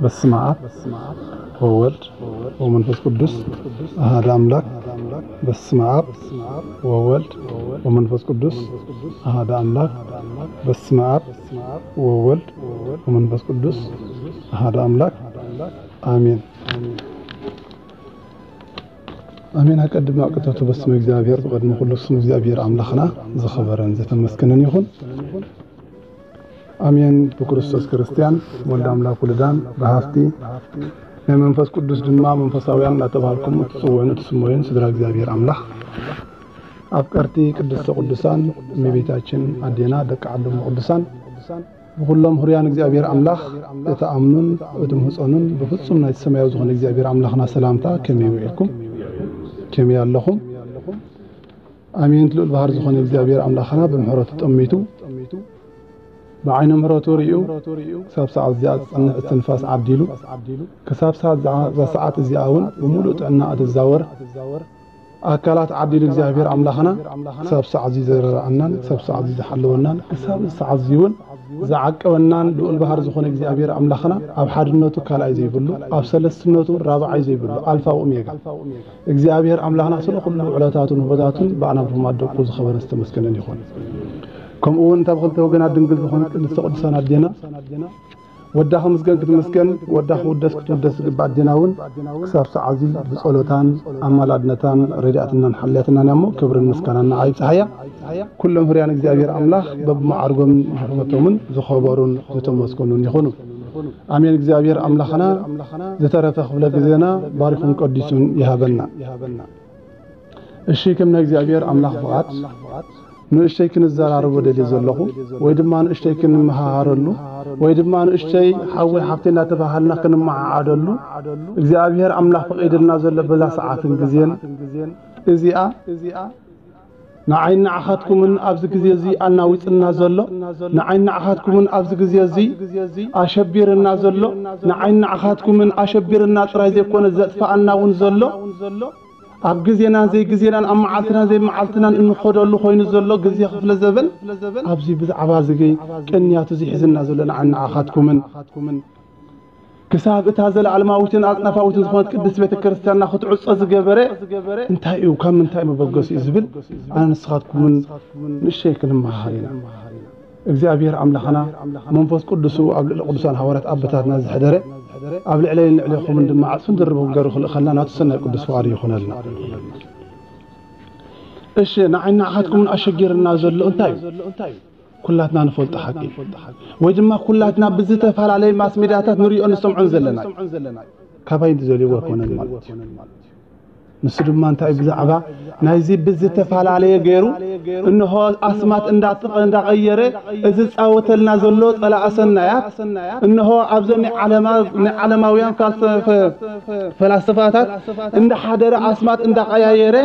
በስመ አብ ወወልድ ወመንፈስ ቅዱስ አሐደ አምላክ። በስመ አብ ወወልድ ወመንፈስ ቅዱስ አሐደ አምላክ። በስመ አብ ወወልድ ወመንፈስ ቅዱስ አሐደ አምላክ። አሜን። ኣሜን። ኣቀድም ኣቅተቱ በስመ እግዚኣብሔር፣ ብቐድሚ ኩሉ ስም እግዚኣብሔር ኣምላኽና ዝኸበረን ዝተመስገነን ይኹን። ኣሜን። ብክርስቶስ ክርስቲያን፣ ወልድ ኣምላክ ውሉዳን፣ ብሃፍቲ ናይ መንፈስ ቅዱስ ድማ መንፈሳውያን እናተባህልኩም እትጽውዑን እትስመዩን ስድራ እግዚኣብሔር ኣምላኽ፣ ኣፍቀርቲ ቅድስተ ቅዱሳን እመቤታችን ኣዴና፣ ደቂ ዓዶም ቅዱሳን፣ ብኹሎም ህሩያን እግዚኣብሔር ኣምላኽ እትኣምኑን እትምህጸኑን ብፍጹም ናይቲ ሰማያዊ ዝኾነ እግዚኣብሔር ኣምላኽና ሰላምታ ከመይ ውዒልኩም? ከመይ ኣለኹም? ኣሜን። ልዑል ባህር ዝኾነ እግዚኣብሔር ኣምላኽና ብምሕረቱ ጠሚቱ ብዓይነ ምሕረቱ ርእዩ ክሳብ ሰዓት እዚኣ ዝጸንሕ እስትንፋስ ዓዲሉ ክሳብ ሰዓት እዛ ሰዓት እዚኣ እውን ብምሉእ ጥዕና እትዛወር ኣካላት ዓዲሉ እግዚኣብሔር ኣምላኽና ክሳብ ሰዓት እዚ ዘረኣናን ክሳብ ሰዓት እዚ ዝሓለወናን ክሳብ እዚ ሰዓት እዚ እውን ዝዓቀበናን ልዑል ባህር ዝኾነ እግዚኣብሔር ኣምላኽና ኣብ ሓድነቱ ካልኣይ ዘይብሉ ኣብ ሰለስትነቱ ራብዓይ ዘይብሉ ኣልፋ ኦሜጋ እግዚኣብሔር ኣምላኽና ስለ ኩሉ ውዕለታቱን ውህበታቱን ብኣና ብኹማት ደቁ ዝኸበረ ዝተመስገነን ይኹን። ከምኡ እውን እታ ብኽልተ ወገናት ድንግል ዝኾነት ቅድስተ ቅዱሳን ኣዴና ወዳ ክምስገን ክትምስገን፣ ወዳ ክውደስ ክትውደስ ዝግባእ ኣዴና እውን ክሳብ ሰዓት እዚ ብጸሎታን ኣማላድነታን ረዲኣትናን ሓልያትናን እያ እሞ፣ ክብርን ምስጋናን ንዓ ይብጽሓያ። ኩሎም ህርያን እግዚኣብሔር ኣምላኽ በብመዓርጎምን ብሹመቶምን ዝኸበሩን ዝተመስገኑን ይኹኑ። ኣሜን። እግዚኣብሔር ኣምላኽና ዝተረፈ ክፍለ ግዜና ባሪኹን ቀዲሱን ይሃበና። እሺ፣ ከም ናይ እግዚኣብሔር ኣምላኽ ፍቓድ ንእሽተይ ክንዘራረቦ ደልየ ዘለኹ፣ ወይ ድማ ንእሽተይ ክንመሃሃረሉ፣ ወይ ድማ ንእሽተይ ሓወይ ሓፍተይ እናተባሃልና ክንመዓዓደሉ እግዚኣብሔር ኣምላኽ ፈቒድልና ዘሎ በዛ ሰዓትን ግዜን እዚኣ ንዓይን ንዓኻትኩምን ኣብዚ ግዜ እዚ ኣናዊጽና ዘሎ፣ ንዓይን ንዓኻትኩምን ኣብዚ ግዜ እዚ ኣሸቢርና ዘሎ፣ ንዓይን ንዓኻትኩምን ኣሸቢርና ጥራይ ዘይኮነ ዘጥፍኣና እውን ዘሎ፣ ኣብ ግዜናን ዘይግዜናን ኣብ መዓልትናን ዘይመዓልትናን እንኸደሉ ኮይኑ ዘሎ ግዜ ክፍለ ዘበን ኣብዚ ብዛዕባ እዚ ቅንያቱ ዝሒዝና ዘሎ ንዓን ንዓኻትኩምን ክሳብ እታ ዘለዓለማዊትን ኣጽናፋዊትን ዝኾነት ቅድስት ቤተ ክርስቲያንና ክትዕጾ ዝገበረ እንታይ እዩ፣ ካብ ምንታይ መበገሲ እዩ ዝብል ኣነ ንስኻትኩምን ንእሽተይ ክንመሃር ኢና። እግዚኣብሔር ኣምላኽና መንፈስ ቅዱሱ ኣብ ልዕሊ ቅዱሳን ሃዋርያት ኣቦታትና ዝሕደረ ኣብ ልዕለይን ልዕሌኹምን ድማ ዓጽፍን ድርብን ገሩ ክልእኸልና ናቱ ሰናይ ቅዱስ ፍቓዱ ይኹነልና። እሺ፣ ንዓይ ንዓኻትኩምን ኣሸጊርና ዘሎ እንታይ እዩ? ኩላትና ንፈልጦ ሓቂ ወይ ድማ ኩላትና ብዝተፈላለየ ማስ ሜድያታት ንሪኦ ንሰምዖን ዘለና እዩ። ካባይ ዝደልይዎ ኣይኮነን ማለት እዩ። ንሱ ድማ እንታይ ብዛዕባ ናይዚ ብዝተፈላለየ ገይሩ እንሆ ኣስማት እንዳጥቐ እንዳቐየረ እዚ ዝጻወተልና ዘሎ ጸላእ ሰናያት እንሆ ኣብዞም ናይ ዓለማ ናይ ዓለማውያን ፋልሰፈ ፈላስፋታት እንዳሓደረ ኣስማት እንዳቐያየረ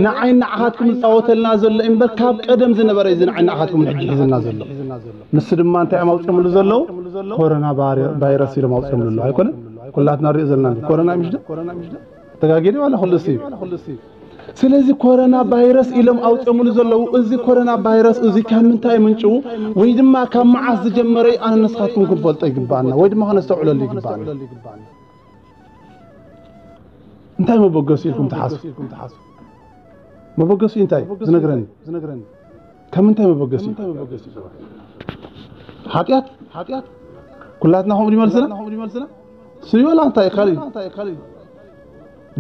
ንዓይ ንዓኻትኩም ዝጻወተልና ዘሎ እምበር ካብ ቀደም ዝነበረ እዩ። እዚ ንዓይ ንዓኻትኩም ሕጂ ሒዝና ዘሎ ንሱ ድማ እንታይ እዮም ኣውፅኦምሉ ዘለዉ? ኮሮና ባሪ- ቫይረስ ኢሎም ኣውፅኦምሉ ኣለዉ ኣይኮነን? ኩላትና ንሪኦ ዘለና እንዲ ኮሮና ምሽ ዶ? ተጋጊደ ዋላ ኩሉ ሲ ስለዚ ኮሮና ቫይረስ ኢሎም ኣውፅኦምሉ ዘለዉ እዚ ኮሮና ቫይረስ እዚ ካብ ምንታይ ምንጭው ወይ ድማ ካብ መዓስ ዝጀመረ እዩ ኣነ ንስኻትኩም ክንፈልጦ ይግባኣና ወይ ድማ ከነስተውዕለሉ ይግባኣና። እንታይ መበገሲ ኢልኩም ትሓስቡ? መበገሲ እንታይ ዝነግረኒ? ካብ ምንታይ መበገሲ? ሓጢኣት? ኩላትና ከምኡ ድመልስና? ስዩ ዋላ እንታይ ካልእ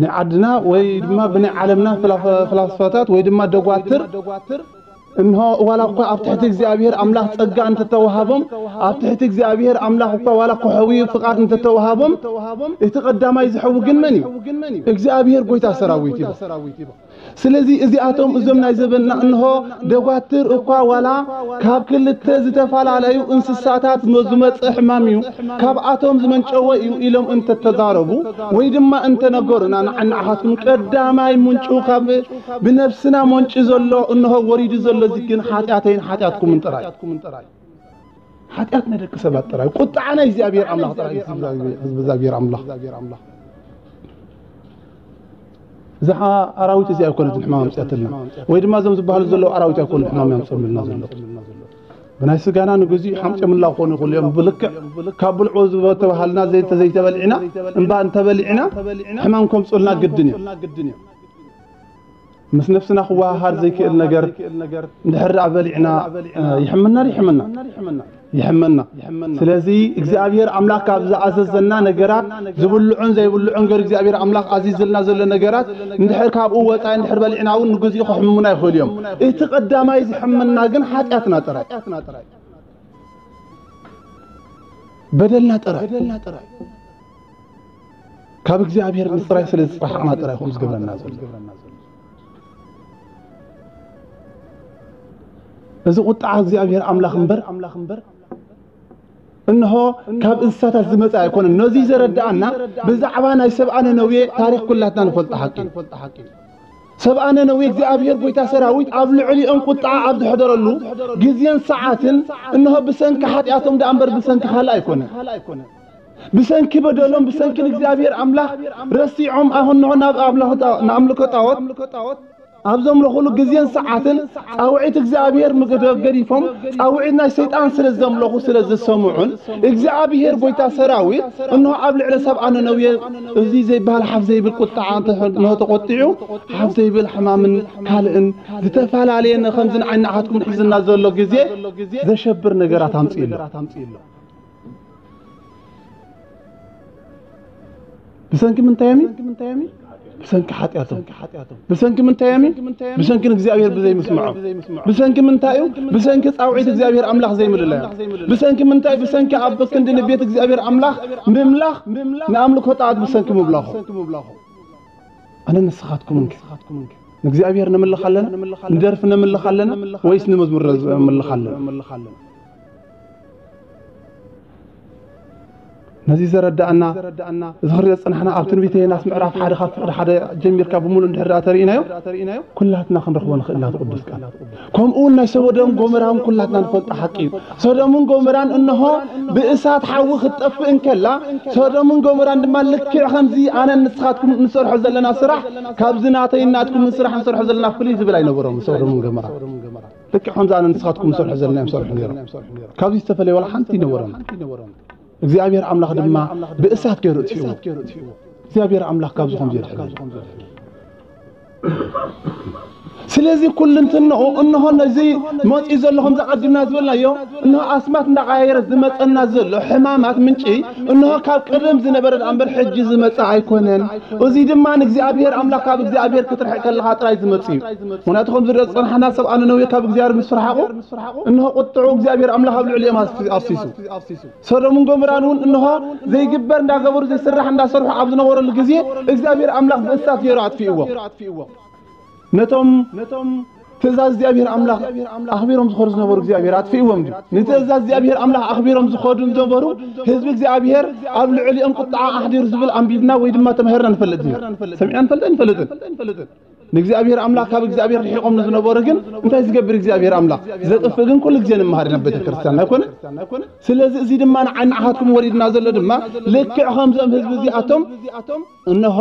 ናይ ዓድና ወይ ድማ ብናይ ዓለምና ፍላ- ፍላስፋታት ወይ ድማ ደጓትር እንሆ ዋላ እኳ ኣብ ትሕቲ እግዚኣብሔር ኣምላኽ ጸጋ እንተተዋሃቦም ኣብ ትሕቲ እግዚኣብሔር ኣምላኽ እኳ ዋላ ክሕውዩ ፍቓድ እንተተዋሃቦም እቲ ቀዳማይ ዝሕዊ ግን መን እዩ? እግዚኣብሔር ጎይታ ሰራዊት እዩ። ስለዚ እዚኣቶም እዞም ናይ ዘበንና እንሆ ደጓትር እኳ ዋላ ካብ ክልተ ዝተፈላለዩ እንስሳታት ዝመፀ ሕማም እዩ፣ ካብኣቶም ዝመንጨወ እዩ ኢሎም እንተተዛረቡ ወይ ድማ እንተነገሩና ንዓና ንዓኻትኩም ቀዳማይ ምንጩ ካብ ብነብስና መንጭ ዘሎ እንሆ ወሪዱ ዘሎ እዚ ግን ሓጢኣተይን ሓጢኣትኩምን ጥራይ ሓጢኣት ናይ ደቂ ሰባት ጥራይ ቁጥዓ ናይ እግዚኣብሔር ኣምላኽ ጥራይ ህዝቢ እግዚኣብሔር ኣምላኽ እዛ ኣራዊት እዚኣ ኣይኮነትን ሕማም ኣምፅኣትልና ወይ ድማ እዞም ዝበሃሉ ዘለዉ ኣራዊት ኣይኮኑ ሕማም ያምፅምልና ዘሎ ብናይ ስጋና ንግዚኡ ሓምጨምላ ክኾኑ ይኽእሉ እዮም። ብልክዕ ካብ ብልዑ ዝተባሃልና ዘይተ-፣ ዘይተበሊዕና፣ እምባ እንተበሊዕና ሕማም ከምፅኡልና ግድን እዩ። ምስ ነፍስና ክወሃሃድ ዘይክእል ነገር እንድሕር ደኣ በሊዕና፣ እ፣ ይሕምና ዶ ይሕምና? ይሕመና። ስለዚ እግዚኣብሔር ኣምላኽ ካብ ዝኣዘዘና ነገራት፣ ዝብልዑን ዘይብልዑን ገሩ እግዚኣብሔር ኣምላኽ ኣዚዝልና ዘሎ ነገራት፣ እንድሕር ካብኡ ወጻኢ እንድሕር በሊዕና እውን ንግዚኡ ከሕምሙና ይኽእሉ እዮም። እቲ ቀዳማይ ዝሕመና ግን ሓጢኣትና ጥራይ። በደልና ጥራይ። ካብ እግዚኣብሔር ምፅራይ ስለ ዝፀሓቕና ጥራይ ከምኡ ዝገብረና ዘሎ። እዚ ቁጥዓ እግዚኣብሔር ኣምላኽ እምበር፣ እንሆ ካብ እንስሳታት ዝመጸ ኣይኮነን። ነዚ ዘረድኣና ብዛዕባ ናይ ሰብኣ ነነዌ ታሪኽ ኩላትና ንፈልጦ ሓቂ እዩ። ሰብኣ ነነዌ እግዚኣብሔር ጐይታ ሰራዊት ኣብ ልዕሊኦም ቁጥዓ ኣብ ዘሕደረሉ ግዜን ሰዓትን፣ እንሆ ብሰንኪ ሓጢኣቶም ደኣ እምበር ብሰንኪ ካልእ ኣይኮነን። ብሰንኪ በደሎም፣ ብሰንኪ ንእግዚኣብሔር ኣምላኽ ረሲዖም፣ ኣሁን እንሆ ናብ ኣምልኾ ጣ-፣ ንኣምልኮ ጣዖት ኣብ ዘምለኹሉ ግዜን ሰዓትን ጻውዒት እግዚኣብሔር ምገደ-፣ ገዲፎም ጻውዒት ናይ ሰይጣን ስለ ዘምለኹ ስለ ዝሰምዑን እግዚኣብሔር ጐይታ ሰራዊት እንሆ ኣብ ልዕሊ ሰብኣ ነነዌ እዚ ዘይበሃል ሓፍ ዘይብል ቁጥዓ እንተ-፣ እንሆ ተቖጢዑ፣ ሓፍ ዘይብል ሕማምን ካልእን ዝተፈላለየ ን-፣ ከምዚ ንዓይ ንዓኻትኩም ሒዝና ዘሎ ግዜ ዘሸብር ነገራት ኣምጺኡ ኣሎ። ብሰንኪ ምንታይ እዮም'ዩ? ብሰንኪ ሓጢኣቶም። ብሰንኪ ምንታይ እዮም'ዩ? ብሰንኪ ንእግዚኣብሔር ብዘይምስምዖም። ብሰንኪ ምንታይ እዩ? ብሰንኪ ጻውዒት እግዚኣብሔር ኣምላኽ ዘይምልላዮም። ብሰንኪ ምንታይ? ብሰንኪ ኣብ ክንዲ ንቤት እግዚኣብሔር ኣምላኽ ምምላኽ፣ ንኣምልኮ ጣዖት ብሰንኪ ምብላኾም። ኣነ ንስኻትኩምንከ? ንእግዚኣብሔር ነምልኽ ኣለና? ንደርፊ ነምልኽ ኣለና? ወይስ ንመዝሙር ነምልኽ ኣለና? ነዚ ዘረዳእና፣ እዚ ክንሪኦ ዝጸናሕና ኣብ ትንቢተ ዮናስ ምዕራፍ ሓደ ካብ ፍቕዲ ሓደ ጀሚርካ ብምሉእ እንድሕር ደኣ ተሪኢናዮ፣ ኩላትና ክንረኽቦ ንኽእል ኢና እቲ ቅዱስ ቃል። ከምኡ እውን ናይ ሰዶም ጎመራን ኩላትና ንፈልጦ ሓቂ እዩ። ሰዶምን ጎመራን እንሆ ብእሳት ሓዊ ክትጠፍእ እንከላ፣ ሰዶምን ጎመራን ድማ ልክዕ ከምዚ ኣነን ንስኻትኩም እንሰርሖ ዘለና ስራሕ ካብዚ ናተይን ናትኩምን ስራሕ ንሰርሖ ዘለና ፍልይ ዝብል ኣይነበሮም ሰዶምን ጎመራን። ልክዕ ከምዚ ኣነ ንስኻትኩም ንሰርሖ ዘለና እዮም ዝሰርሑ ነይሮም። ካብዚ ዝተፈለየ ዋላ ሓንቲ ኣይነበሮም። እግዚኣብሔር ኣምላኽ ድማ ብእሳት ገይሩ እጥፊእዎ። እግዚኣብሔር ኣምላኽ ካብዚ ከምዚ የድሕነና። ስለዚ ኩልንትንኡ እንሆ ነዚ መፂኡ ዘሎ ከምዚ ኣቐዲምና ዝበልናዮ እንሆ ኣስማት እንዳቐያየረ ዝመፀና ዘሎ ሕማማት ምንጪ እንሆ ካብ ቀደም ዝነበረ ደኣ እምበር ሕጂ ዝመፀ ኣይኮነን። እዚ ድማ ንእግዚኣብሔር ኣምላኽ ካብ እግዚኣብሔር ክትርሕቅ ከለኻ ጥራይ ዝመፅእ እዩ። ምኽንያቱ ከምዚ ንሪኦ ዝፀናሕና ሰብ ኣነነውየ ካብ እግዚኣብሔር ምስ ርሓቑ እንሆ ቁጥዑ እግዚኣብሔር ኣምላኽ ኣብ ልዕሊኦም ኣፍሲ-፣ ኣፍሲሱ። ሰዶምን ጎሞራን እውን እንሆ ዘይግበር እንዳገበሩ ዘይስራሕ እንዳሰርሑ ኣብ ዝነበረሉ ግዜ እግዚኣብሔር ኣምላኽ ብእሳት ገይሩ ኣጥፊእዎም። ነቶም ትእዛዝ እግዚኣብሔር ኣምላኽ ኣኽቢሮም ዝኸዱ ዝነበሩ እግዚኣብሔር ኣጥፊእዎም ድዩ? ንትእዛዝ እግዚኣብሔር ኣምላኽ ኣኽቢሮም ዝኸዱ ዝነበሩ ህዝቢ እግዚኣብሔር ኣብ ልዕሊኦም ቁጥዓ ኣሕዲሩ ዝብል ኣንቢብና ወይ ድማ ተማሂርና ንፈልጥ ድዩ? ሰሚዕና ንፈልጥ ንፈልጥን? ንእግዚኣብሔር ኣምላኽ ካብ እግዚኣብሔር ርሒቖም ንዝነበሩ ግን እንታይ ዝገብር እግዚኣብሔር ኣምላኽ? ዘጥፍእ ግን ኩሉ ግዜ ንምሃር ኢና ቤተ ክርስቲያን ኣይኮነ? ስለዚ እዚ ድማ ንዓይ ንዓኻትኩም ወሪድና ዘሎ ድማ ልክዕ ከምዞም ህዝቢ እዚኣቶም እንሆ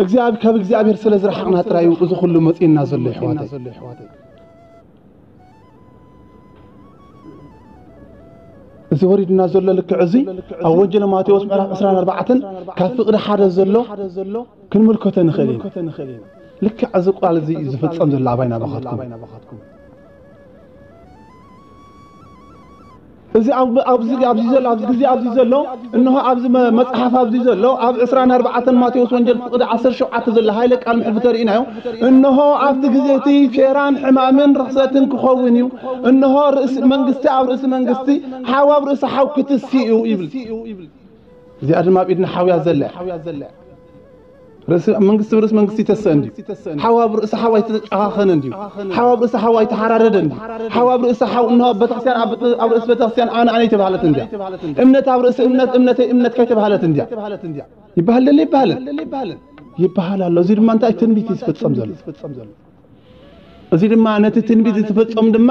እግዚኣብ-፣ ካብ እግዚኣብሔር ስለ ዝረሓቕና ጥራይ እዩ እዚ ኩሉ መጺእና ዘሎ ይሕዋተይ። እዚ ወሪድና ዘሎ ልክዕ እዚ ኣብ ወንጌል ማቴዎስ ምዕራፍ ዕስራን ኣርባዕተን ካብ ፍቕዲ ሓደ ዘሎ ክንምልከቶ ንኽእል ኢና። ልክዕ እዚ ቃል እዚ እዩ ዝፍጸም ዘሎ ኣባይ ናባኻትኩም። እዚ ኣብ-፣ ኣብዚ፣ ኣብዚ ዘሎ፣ ኣብዚ ግዜ ኣብዚ ዘሎ፣ እንሆ ኣብዚ መ-፣ መጽሓፍ ኣብዚ ዘሎ፣ ኣብ ዕስራን ኣርባዕተን ማቴዎስ ወንጌል ፍቕዲ ዓሰርተ ሸውዓተ ዘሎ ሃይለ ቃል ምሕልፊ ተርእናዮ። እንሆ ኣብቲ ግዜ እቲ ፌራን ሕማምን ርኽሰትን ክኸውን እዩ። እንሆ ርእሲ መንግስቲ ኣብ ርእሲ መንግስቲ፣ ሓው ኣብ ርእሲ ሓው ክትሲ እዩ ይብል። እዚኣ ድማ ኣብ ኢድና ሓውያ ዘለ። ርእሲ መንግስቲ ብርእሲ መንግስቲ ይተሰእ እንድዩ። ሓው ኣብ ርእሲ ሓው ኣይተጨኻኸነ እንድዩ። ሓው ኣብ ርእሲ ሓው ኣይተሓራረደ እንድዩ። ሓው ኣብ ርእሲ ሓው እንሆ ቤተክርስትያን ኣብ፣ ኣብ ርእሲ ቤተክርስትያን ኣነ ኣነ ኣይተባህለት እንድያ። እምነት ኣብ ርእሲ እምነት እምነተይ እምነትካ ኣይተባህለት እንድያ። ይበሃል ደለ ይበሃልን? ይበሃል ኣሎ። እዚ ድማ እንታይ ትንቢት እዩ ዝፍጸም ዘሎ? እዚ ድማ ነቲ ትንቢት ዝፍጸም ድማ፣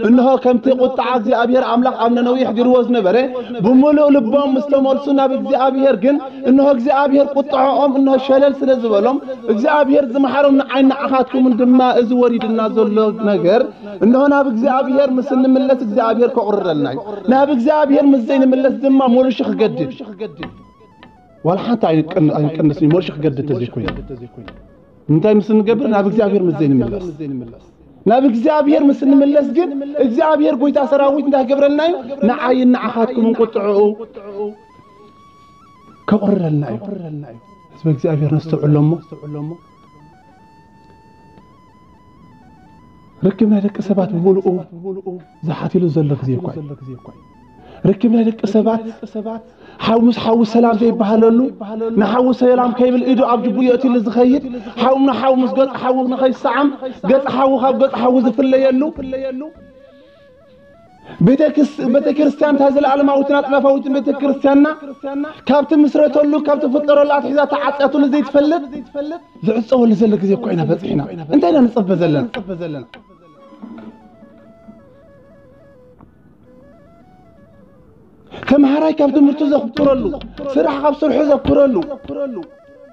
እንሆ ከምቲ ቁጥዓ እግዚኣብሔር ኣምላኽ ኣብ ነነዊሕ ገይርዎ ዝነበረ፣ ብምሉእ ልቦም ምስ ተመልሱ ናብ እግዚኣብሔር ግን፣ እንሆ እግዚኣብሔር ቁጥዓኦም እንሆ ሸለል ስለ ዝበሎም፣ እግዚኣብሔር ዝመሓሮም ንዓይ ንዓኻትኩምን ድማ እዚ ወሪድና ዘሎ ነገር፣ እንሆ ናብ እግዚኣብሔር ምስ እንምለስ እግዚኣብሔር ከቑርረልና እዩ። ናብ እግዚኣብሔር ምስ ዘይንምለስ ድማ ሞልሹ ክገድድ። ዋላ ሓንቲ ኣይንቀን-፣ ኣይንቀንስን እዩ፣ ሞልሹ ክገድድ ተዘይኮይኑ። እንታይ ምስ እንገብር? ናብ እግዚኣብሔር ምስ ዘይንምለስ። ናብ እግዚኣብሔር ምስ እንምለስ ግን እግዚኣብሔር ጎይታ ሰራዊት እንታይ ክገብረልና እዩ? ንዓይን ንዓኻትኩምን ቁጥዕኡ ከቑርረልና እዩ። ህዝቢ እግዚኣብሔር ነስተውዕሎ እሞ፣ ርክብ ናይ ደቂ ሰባት ብምሉኡ ዝሓትሉ ዘሎ ግዜ እኳ እዩ። ርክብ ናይ ደቂ ሰባት ሓው ምስ ሓው ሰላም ዘይበሃለሉ፣ ንሓው ሰላም ከይብል ኢዱ ኣብ ጅቡ የእትሉ ዝኸይድ፣ ሓው ንሓው ምስ ገጽ ሓው ንኸይሰዓም፣ ገጽ ሓው ካብ ገጽ ሓው ዝፍለየሉ፣ ቤተ ክስ-፣ ቤተ ክርስቲያን እታ ዘለዓለማዊትን ኣጽናፋዊትን ቤተ ክርስቲያንና ካብ ትምስረተሉ፣ ካብ ትፍጠረሉ ኣትሒዛ ተዓጽያትሉ ዘይትፈልጥ ዝዕጸወሉ ዘሎ ግዜ እኮ ኢና በጺሕና። እንታይ ኢና ንጸበ ዘለና? ተምሃራይ ካብ ትምህርቱ ዘኩረሉ፣ ስራሕ ካብ ስርሑ ዘኩረሉ፣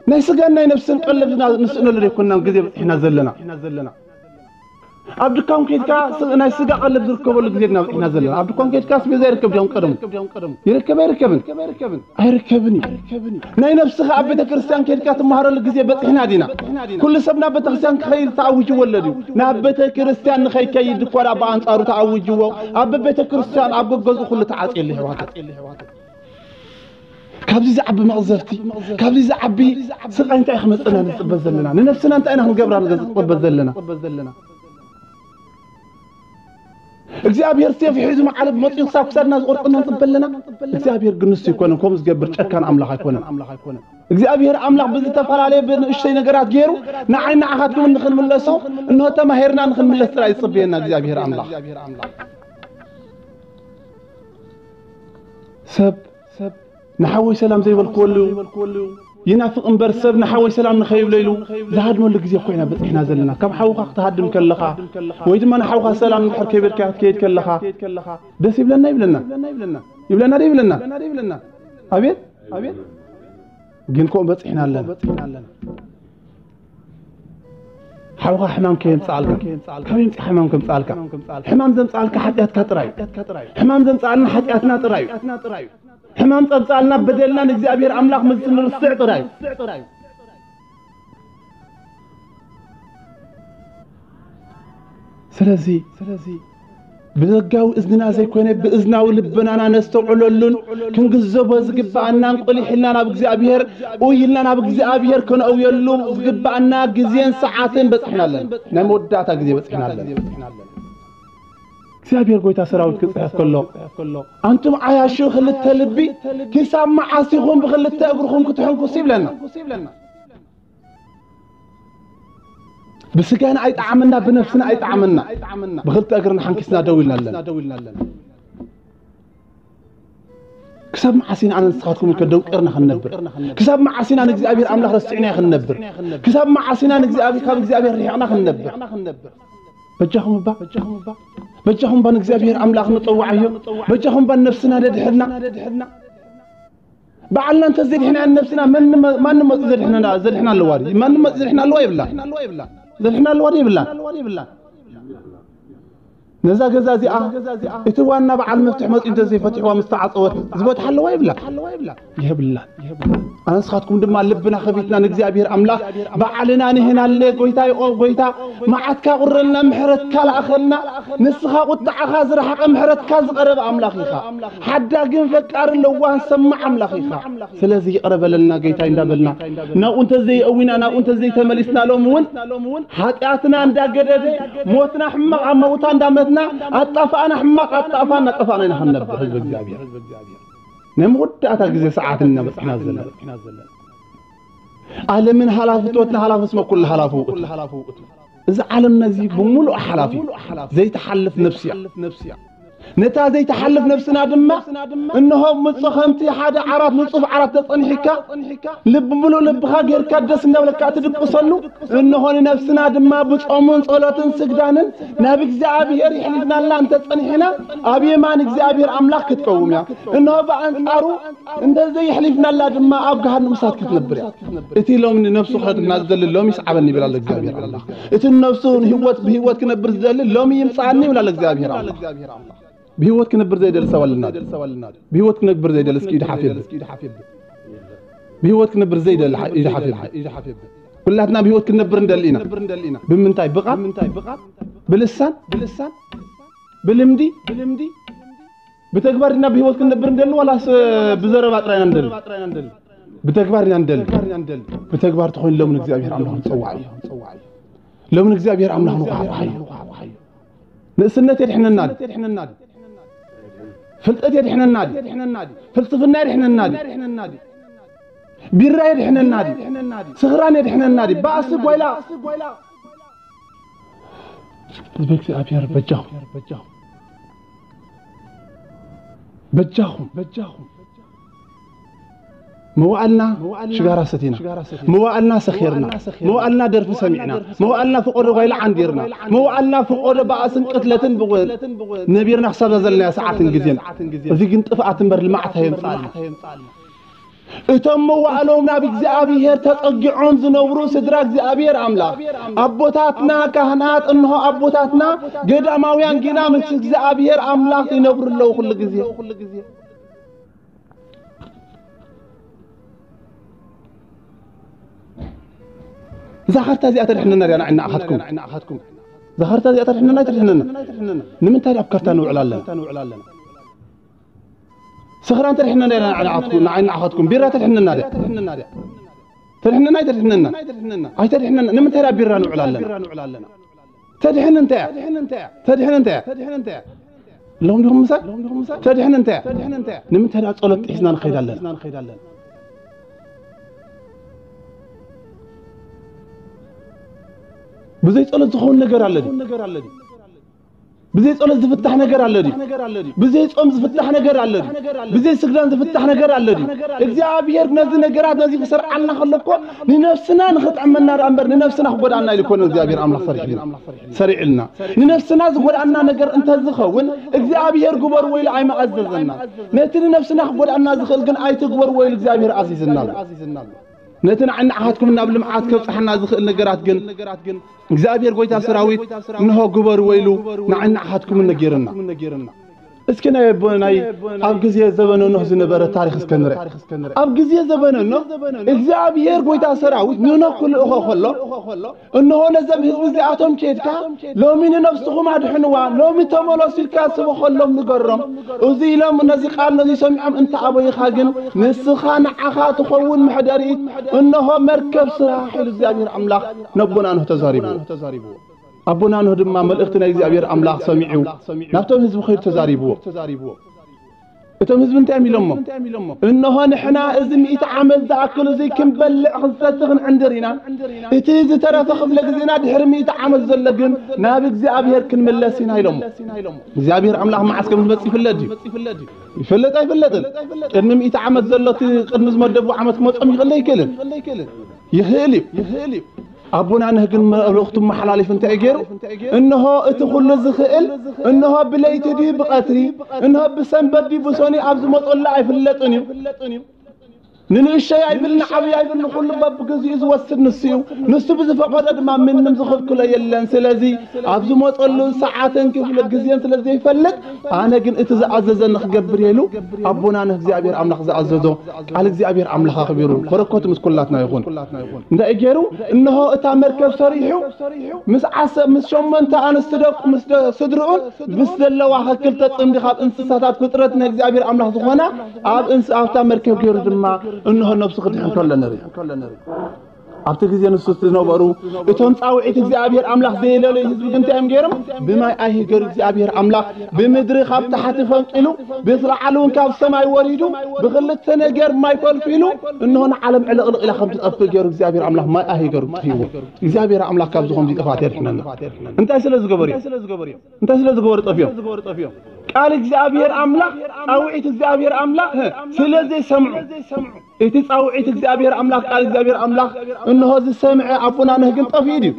ናይ ስጋን ናይ ነፍስን ቀለብ ዝና-፣ ንስእነሉ ዘይኮንና ግዜ በጺሕና ዘለና። ኣብ ድኳን ከይድካ ስ-፣ ናይ ስጋ ቀለብ ዝርከበሉ ግዜ ኢና በጺሕና ዘለና። ኣብ ድኳን ከይድካ ኣስቤዛ ይርከብ ድዮም ቀደሙ? ይርከብ ኣይርከብን? ኣይርከብን እዩ። ናይ ነፍስኻ ኣብ ቤተ ክርስቲያን ከይድካ ትመሃረሉ ግዜ በጺሕና ዲና? ኩሉ ሰብ ናብ ቤተ ክርስቲያን ክኸይድ ተኣዊጅዎ ኣሎ ድዩ? ናብ ቤተ ክርስቲያን ንኸይከይድ እኳ ደኣ ብኣንጻሩ ተኣዊጅዎ፣ ኣብ ቤተ ክርስቲያን ኣብ ገገዝኡ ኩሉ ተዓጽየሉ ይሕዋት። ካብዚ ዝዓቢ መቕዘፍቲ፣ ካብዚ ዝዓቢ ስቓይ እንታይ ክመጽእና ንጽበ ዘለና? ንነፍስና እንታይ ኢና ክንገብራ ንጽበ ዘለና? እግዚኣብሔር ሴፍ ሒዙ መዓልብ መጺኡ ክሳብ ክሳድና ዝቖርጠና ንጽበ ኣለና? እግዚኣብሔር ግን ንሱ ኣይኮነን፣ ከምኡ ዝገብር ጨካን ኣምላኽ ኣይኮነን። እግዚኣብሔር ኣምላኽ ብዝተፈላለየ ብንእሽተይ ነገራት ገይሩ ንዓይ ንዓኻትኩም ንኽንምለሶ፣ እንሆ ተማሂርና ንኽንምለስ ጥራይ ዝጽበየና እግዚኣብሔር ኣምላኽ። ሰብ ንሓወይ ሰላም ዘይበልክወሉ ይናፍቕ እምበር፣ ሰብ ንሓወይ ሰላም ንኸይብለሉ ዝሃድመሉ ግዜ ኮይና በጺሕና ዘለና። ካብ ሓውኻ ክትሃድም ከለኻ ወይ ድማ ንሓውኻ ሰላም እንድሕር ከይበልካ ክትከይድ ከለኻ ደስ ይብለና ይብለና? ይብለና ዶ ይብለና? ኣቤት፣ ኣቤት። ግን ከምኡ በጺሕና ኣለና። ሓውኻ ሕማም ከየምጽኣልካ፣ ካብ የምጽእ ሕማም ከምጽኣልካ፣ ሕማም ዘምጽኣልካ ሓጢኣትካ ጥራይ እዩ። ሕማም ዘምጽኣልና ሓጢኣትና ጥራይ እዩ። ሕማም ዘምጽኣልና በደልና ንእግዚኣብሔር ኣምላኽ ምስ ንርስዕ ጥራይ እዩ። ስለዚ፣ ስለዚ ብደጋዊ እዝንና ዘይኮነ ብእዝናዊ ልብናና ነስተውዕለሉን ክንግንዘቦ ዝግብኣናን ቆሊሕ ኢልና ናብ እግዚኣብሔር፣ ኡይ ኢልና ናብ እግዚኣብሔር ከነእውየሉ ዝግብኣና ግዜን ሰዓትን በጺሕና ኣለና። ናይ መወዳእታ ግዜ በጺሕና ኣለና። እግዚኣብሔር ጎይታ ሰራዊት ክጽሕፍ ከሎ፣ ኣንቱም ዓያሹ ክልተ ልቢ፣ ክሳብ መዓስ ኢኹም ብኽልተ እግርኹም ክትሕንኩሱ ይብለና። ብስጋና ኣይጠዓመና፣ ብነፍስና ኣይጠዓመና። ብኽልተ እግርና ሓንኪስና ደው ኢልና ኣለና። ክሳብ መዓስ ኢና ኣነ ንስኻትኩም ከደንቀርና ክንነብር? ክሳብ መዓስ ኢና ንእግዚኣብሔር ኣምላኽ ረሲዕናዮ ክንነብር? ክሳብ መዓስ ኢና ንእግዚኣብሔር፣ ካብ እግዚኣብሔር ርሒቕና ክንነብር? በጃኹም እባ፣ በጃኹም እባ ንእግዚኣብሔር ኣምላኽ ንጠውዓዮ። በጃኹም እባ ንነፍስና ነድሕና። ባዕልና እንተ ዘድሕናያ ነብስና፣ መን መ-፣ ማን መጽኡ ዘድሕነና፣ ዘድሕና ኣለዋ ድዩ? ማን መጽኡ ዘድሕና ኣለዋ የብላን። ዘድሕና ኣለዋ ድዩ የብላን? ነዛ ገዛ እዚኣ እቲ ዋና በዓል መፍትሕ መጽኡ እንተ ዘይፈቲሕዋ ምስ ተዓጸወት ዝበትሓ ኣለዋ የብላን? የብላን። ኣነ ንስኻትኩም ድማ ልብና ከፊትና ንእግዚኣብሔር ኣምላኽ ባዕልና ንህናለ። ጎይታይ፣ ኦ ጎይታ፣ መዓትካ ቁረልና፣ ምሕረትካ ለኣኸልና። ንስኻ ቁጥዓኻ ዝረሓቐ ምሕረትካ ዝቐረበ ኣምላኽ ኢኻ። ሓዳግን ፈቃርን ለዋህን ሰማዕ ኣምላኽ ኢኻ። ስለዚ ይቕረ በለልና ጌታይ እንዳበልና፣ ናብኡ እንተ ዘይእዊና፣ ናብኡ እንተ ዘይተመሊስና፣ ሎሚ እውን ሓጢኣትና እንዳገደደ፣ ሞትና ሕማቕ ኣብ መውታ እንዳመትና፣ ኣጣፋእና ሕማቕ ኣጣፋ እናጠፋእና ኢና ክንነብር ህዝቢ እግዚኣብሔር። ናይ መወዳእታ ግዜ ሰዓት ኢና በጺሕና ዘለና። ዓለምን ሃላፍትወትን ሃላፍ እስመ ኩሉ ሃላፍ ውእቱ። እዚ ዓለምና እዚ ብምሉእ ሓላፊ እዩ። ዘይትሓልፍ ነፍሲ እያ። ነታ ዘይትሓልፍ ነፍስና ድማ፣ እንሆ ምጹ ከምቲ ሓደ ዓራት፣ ንጹፍ ዓራት ተጸኒሕካ፣ ልቢ ምሉእ ልብኻ ጌርካ ደስ እንዳበለካ እትድቅሰሉ፣ እንሆ ንነፍስና ድማ ብጾምን ጸሎትን ስግዳንን ናብ እግዚኣብሔር ይሕሊፍናላ እንተጸኒሕና፣ ኣብ የማን እግዚኣብሔር ኣምላኽ ክትቀውም እያ። እንሆ ብኣንጻሩ እንተዘይሕሊፍናላ ድማ ኣብ ገሃነም እሳት ክትነብር እያ። እቲ ሎሚ ንነፍሱ ክኸድና ዝደሊ ሎሚ ይስዓበኒ ይብል ኣሎ እግዚኣብሔር ኣምላኽ። እቲ ንነፍሱ ንህይወት፣ ብህይወት ክነብር ዝደሊ ሎሚ ይምጽኣኒ ይብል ኣሎ እግዚኣብሔር ኣምላኽ። ብህይወት ክነብር ዘይደሊ ሰብ ኣለና ድዩ? ብህይወት ክነብር ዘይደሊ እስኪ ኢዱ ሓፍ የብል። ብህይወት ክነብር ዘይደሊ ሓ-፣ ኢዱ ሓፍ የብል። ኩላትና ብህይወት ክንነብር እንደሊ ኢና። ብምንታይ? ብቓል? ብልሳን? ብልምዲ? ብተግባር ዲና ብህይወት ክንነብር እንደሊ ዋላስ ብዘረባ ጥራይ ኢና እንደሊ? ብተግባር ኢና እንደሊ። ብተግባር ተኾይኑ ሎሚ ንእግዚኣብሔር ኣምላኽ ንጸዋዕ እዩ። ሎሚ ንእግዚኣብሔር ኣምላኽ ንኳሕኳሕ እዩ። ንእስነት የድሕነና ድዩ? ፍልጠት የድሕነና ድዩ? ፍልስፍና የድሕነና ድዩ? ቢራ የድሕነና ድዩ? ስኽራን የድሕነና ድዩ? ባእሲ ጓይላ። ህዝበ እግዚኣብሔር በጃኹም። በጃኹም። በጃኹም። መዋእልና ሽጋራ ሰቲና፣ መዋእልና ሰኺርና፣ መዋእልና ደርፊ ሰሚዕና፣ መዋእልና ፍቆዶ ጓይላ ዓንዲርና፣ መዋእልና ፍቆዶ ባእስን ቅትለትን ብጎ-፣ ነቢርና ክሳብ ዘለናዮ ሰዓትን ግዜን። እዚ ግን ጥፍኣት እምበር ልምዓት ኣየምጽኣልና። እቶም መዋእሎም ናብ እግዚኣብሔር ተጸጊዖም ዝነብሩ ስድራ እግዚኣብሔር ኣምላኽ፣ ኣቦታትና ካህናት፣ እንሆ ኣቦታትና ገዳማውያን ጊና ምስ እግዚኣብሔር ኣምላኽ ይነብሩ ኣለዉ ኩሉ ግዜ። እዛ ካርታ እዚኣ ተድሕነና ድያ ንዓይ ንዓኻትኩም? እዛ ካርታ እዚኣ ተድሕነና ኣይተድሕነና? ንምንታይ ድኣ ኣብ ካርታ ንውዕል ኣለና? ስኽራን ተድሕነና ድያ ንዓይ ንዓኻትኩም? ንዓይ ንዓኻትኩም ቢራ ተድሕነና ድያ? ተድሕነና ኣይተድሕነና? ኣይተድሕነና። ንምንታይ ድኣ ቢራ ንውዕል ኣለና? ተድሕን እንታይ እያ? ተድሕን እንታይ እያ? ሎም ዲኹም ምሳይ? ተድሕን እንታይ እያ? ንምንታይ ደኣ ጸሎት ጥሒስና ንኸይድ ኣለና? ብዘይ ጸሎት ዝኸውን ነገር ኣለ ድዩ? ብዘይ ጸሎት ዝፍታሕ ነገር ኣለ ድዩ? ብዘይ ጾም ዝፍታሕ ነገር ኣለ ድዩ? ብዘይ ስግዳን ዝፍታሕ ነገር ኣለ ድዩ? እግዚኣብሔር ነዚ ነገራት ነዚ ክሰርዓልና ከሎ እኮ ንነፍስና ንኽጥዕመና ደኣ እምበር ንነፍስና ክጎድኣና ኢሉ እኮ እግዚኣብሔር ኣምላኽ ሰሪሕልና። ሰሪዕልና። ንነፍስና ዝጎድኣና ነገር እንተዝኸውን እግዚኣብሔር ግበርዎ ኢሉ ኣይምኣዘዘና። ነቲ ንነፍስና ክጎድኣና ዝኽእል ግን ኣይትግበርዎ ኢሉ እግዚኣብሔር ኣዚዝና ኣሎ። ነቲ ንዓይ ንዓኻትኩም ናብ ልምዓት ከብጽሓና ዝኽእል ነገራት ግን እግዚኣብሔር ጎይታ ሰራዊት እንሆ ግበርዎ ኢሉ ንዓይ ንዓኻትኩም ነጊርና። እስኪ ናይ ኣቦ-፣ ናይ ኣብ ግዜ ዘበነ ኖህ ዝነበረ ታሪኽ እስከ ንርእ። ኣብ ግዜ ዘበነ ኖህ እግዚኣብሔር ጎይታ ሰራዊት ንኖህ ክልእኾ ከሎ እንሆ ነዘም ህዝቢ እዚኣቶም ኬድካ ሎሚ ንነፍስኹም ኣድሕንዋ፣ ሎሚ ተመለሱ ኢልካ ስበኸሎም ንገሮም። እዚ ኢሎም ነዚ ቃል ነዚ ሰሚዖም እንተ ኣበይኻ ግን ንስኻ ንዓኻ ትኸውን መሕደሪት እንሆ መርከብ ስራሕ ኢሉ እግዚኣብሔር ኣምላኽ ነቦና ኖህ ተዛሪብዎ። ኣቦና ኖህ ድማ መልእኽቲ ናይ እግዚኣብሔር ኣምላኽ ሰሚዑ ናብቶም ህዝቢ ኸይዱ ተዛሪብዎ። እቶም ህዝቢ እንታይ እዮም ኢሎሞ? እንሆ ንሕና እዚ ሚእቲ ዓመት ዝኣክል እዚ ክንበልዕ ክንሰቲ ክንዕንድር ኢና። እቲ ዝተረፈ ክፍለ ግዜና ድሕሪ ሚእቲ ዓመት ዘሎ ግን ናብ እግዚኣብሔር ክንምለስ ኢና ኢሎሞ። እግዚኣብሔር ኣምላኽ መዓስ ከም ዝመጽእ ይፍለጥ ድዩ? ይፍለጥ ኣይፍለጥን? ቅድሚ ሚእቲ ዓመት ዘሎ እቲ ቅድሚ ዝመደቡ ዓመት ክመጾም ይኽእል ኣይክእልን? ይኽእል እዩ። ኣቦና ኖህ ግን መልእኽቱ መሓላሊፍ እንታይ እዩ ገይሩ? እንሆ እቲ ኩሉ ዝኽእል፣ እንሆ ብለይቲ ድዩ ብቐትሪ፣ እንሆ ብሰንበት ድዩ ብሰኑይ ኣብ ዝመጸሉ ኣይፍለጥን እዩ። ንንእሸይ ኣይብል ንዓብይ ኣይብል ንኹሉ በብግዚኡ ዝወስድ ንሱ እዩ። ንሱ ብዝፈቐዶ ድማ ምንም ዝኽልክሎ የለን። ስለዚ ኣብ ዝመጸሉ ሰዓትን ክፍለ ግዜን ስለ ዘይፈልጥ ኣነ ግን እቲ ዝኣዘዘኒ ክገብር እየ ኢሉ ኣቦና ኖህ እግዚኣብሔር ኣምላኽ ዝኣዘዞ ቃል እግዚኣብሔር ኣምላኽ ኣኽቢሩ በረከቱ ምስ ኩላትና ይኹን። እንታይ እዩ ገይሩ? እንሆ እታ መርከብ ሰሪሑ ምስ ዓሰብ ምስ ሸሞንተ ኣንስቲ ደቁ ምስ ደ-፣ ስድርኡን ምስ ዘለዋ ክልተ ጽምዲ ካብ እንስሳታት ፍጥረት ናይ እግዚኣብሔር ኣምላኽ ዝኾና ኣብ እንስ-፣ ኣብታ መርከብ ገይሩ ድማ እንሆ ነብሱ ክድሕን ከሎ ንርኢ። ኣብቲ ግዜ ንሱ ዝነበሩ እቶም ጻውዒት እግዚኣብሔር ኣምላኽ ዘየለለዩ ህዝቢ ግን እንታይ እዮም ገይሮም? ብማይ ኣይሂገሩ እግዚኣብሔር ኣምላኽ ብምድሪ ካብ ታሕቲ ፈንቂሉ ብስ ላዕሊ እውን ካብ ሰማይ ወሪዱ ብኽልተ ነገር ማይ ፈልፊሉ እንሆ ንዓለም ዕልቕልቕ ኢላ ከም ትጠፍእ ገይሩ እግዚኣብሔር ኣምላኽ ማይ ኣይሂገሩ ጥፊእዎ። እግዚኣብሔር ኣምላኽ ካብ ዝኾም ጥፋት የድሕነና። እንታይ ስለ ዝገበሩ እዮም? እንታይ ስለ ዝገበሩ ጠፊኦም? ቃል እግዚኣብሔር ኣምላኽ፣ ጻውዒት እግዚኣብሔር ኣምላኽ ስለ ዘይሰምዑ፣ እቲ ጻውዒት እግዚኣብሔር ኣምላኽ፣ ቃል እግዚኣብሔር ኣምላኽ እንሆ ዝሰምዐ ኣቦና ኖህ ግን ጠፊኡ ድዩ?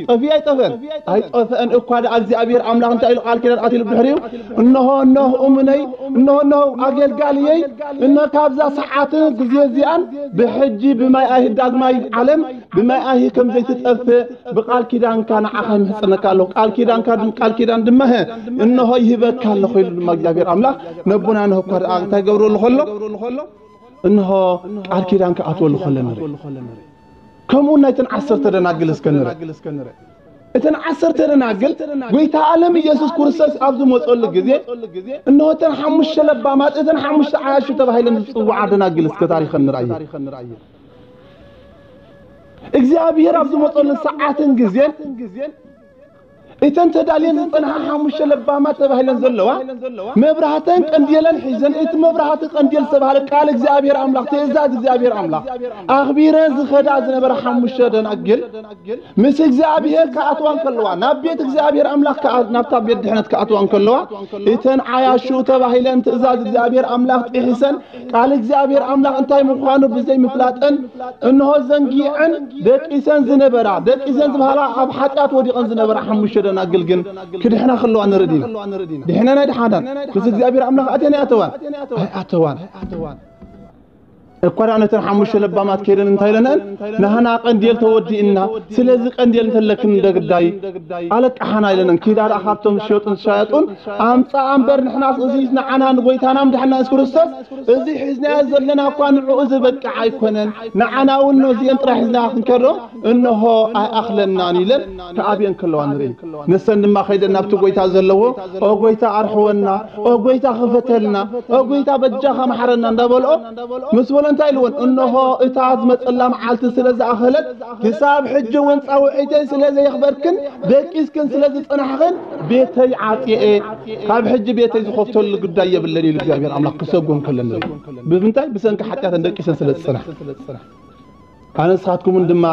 ጠፊኡ ኣይጠፍአን? ኣይጠፍአን። እኳ ደኣ እግዚኣብሔር ኣምላኽ እንታይ ኢሉ ቃል ኪዳን ኣትሉ ብድሕሪኡ? እንሆ ኖህ እሙነይ፣ እንሆ ኖህ ኣገልጋልየይ፣ እንሆ ካብዛ ሰዓት ግዜ እዚኣን ብሕጂ ብማይ ኣይሂ ዳግማይ ዓለም ብማይ ኣይሂ ከም ዘይትጠፍእ ብቃል ኪዳንካ ንዓኻ ይምሕጽነካ ኣለኹ። ቃል ኪዳንካ ድም-፣ ቃል ኪዳን ድማ፣ ሀ፣ እንሆ ይህበካ ኣለኹ ኢሉ ድማ እግዚኣብሔር ኣምላኽ ነቦና ኖህ እኳ ደኣ እንታይ ገብረሉ ከሎ? እንሆ ቃል ኪዳን ክኣትወሉ ከሎ ንርኢ። ከምኡ ናይተን ዓሰርተ ደናግል እስከ ንርኢ። እተን ዓሰርተ ደናግል ጎይታ ዓለም ኢየሱስ ክርስቶስ ኣብ ዝመጸሉ ግዜ፣ እንሆ እተን ሓሙሽተ ለባማት፣ እተን ሓሙሽተ ዓያሹ ተባሂለን ዝጽውዓ ደናግል እስከ ታሪኸን ንርኣየን። እግዚኣብሔር ኣብ ዝመጸሉ ሰዓትን ግዜን፣ እተን ተዳልየን ዝጸንሓ ሓሙሽተ ለባማት ተባሂለን ዘለዋ፣ መብራህተን ቀንዴለን ሒዘን፣ እቲ መብራህቲ ቀንዴል ዝተባህለ ቃል እግዚኣብሔር ኣምላኽ፣ ትእዛዝ እግዚኣብሔር ኣምላኽ ኣኽቢረን ዝኸዳ ዝነበራ ሓሙሽተ ደናግል፣ ምስ እግዚኣብሔር ክኣትዋ እንከለዋ፣ ናብ ቤት እግዚኣብሔር ኣምላኽ ክኣ-፣ ናብታ ቤት ድሕነት ክኣትዋ እንከለዋ፣ እተን ዓያሹ ተባሂለን ትእዛዝ እግዚኣብሔር ኣምላኽ ጥሒሰን፣ ቃል እግዚኣብሔር ኣምላኽ እንታይ ምዃኑ ብዘይ ምፍላጠን፣ እንሆ ዘንጊዐን ደቂሰን ዝነበራ፣ ደቂሰን ዝበሃላ ኣብ ሓጢኣት ወዲቐን ዝነበራ ሓሙሽተ ደናግል ግን ክድሕና ከለዋ ንርኢ ዲና? ድሕነን ኣይድሓናን። ምስ እግዚኣብሔር ኣምላኽ ኣትየን ኣይኣተዋን? ኣይኣተዋን። እኳ ደኣ ነተን ሓሙሽተ ለባማት ከይደን እንታይ ኢለንአን? ናህና ቀንዴል ተወዲእና፣ ስለዚ ቀንዴል እንተለክን እንደ ግዳይ ኣለቃሓና ኢለንአን። ኪዳ ደኣ ካብቶም ዝሸጡን ዝሻየጡን ኣምጻኣ እምበር፣ ንሕናስ እዚ ንዓና ንጎይታና ምድሓና የሱስ ክርስቶስ፣ እዚ ሒዝናዮ ዘለና እኳ ንዕኡ ዝበቅዕ ኣይኮነን። ንዓና እውን ነዚአን ጥራሕ ሒዝና ክንከዶ እንሆ ኣይኣኽለናን ኢለን ክኣብየን ከለዋ ንርኢ። ንሰን ድማ ከይደን ናብቲ ጎይታ ዘለዎ፣ "ኦ ጎይታ ኣርሕወና፣ ኦ ጎይታ ክፈተልና፣ ኦ ጎይታ በጃኻ መሓረና" እንዳበልኦ ምስ በሎ እንታይ ኢልወን? "እንሆ እታ ዝመጸላ መዓልቲ ስለ ዝኣኸለት፣ ክሳብ ሕጂ እውን ጻውዒተይ ስለ ዘየኽበርክን ደቂስክን ስለ ዝጸናሕኽን ቤተይ ዓጽየ፣ ካብ ሕጂ ቤተይ ዝኸፍተሉ ጉዳይ የብለን" ኢሉ እግዚኣብሔር ኣምላኽ ክሰጎን ከሎ ንርኢ። ብምንታይ? ብሰንኪ ሓጢኣተን ደቂሰን ስለ ዝጸናሕ። ኣነ ንስኻትኩምን ድማ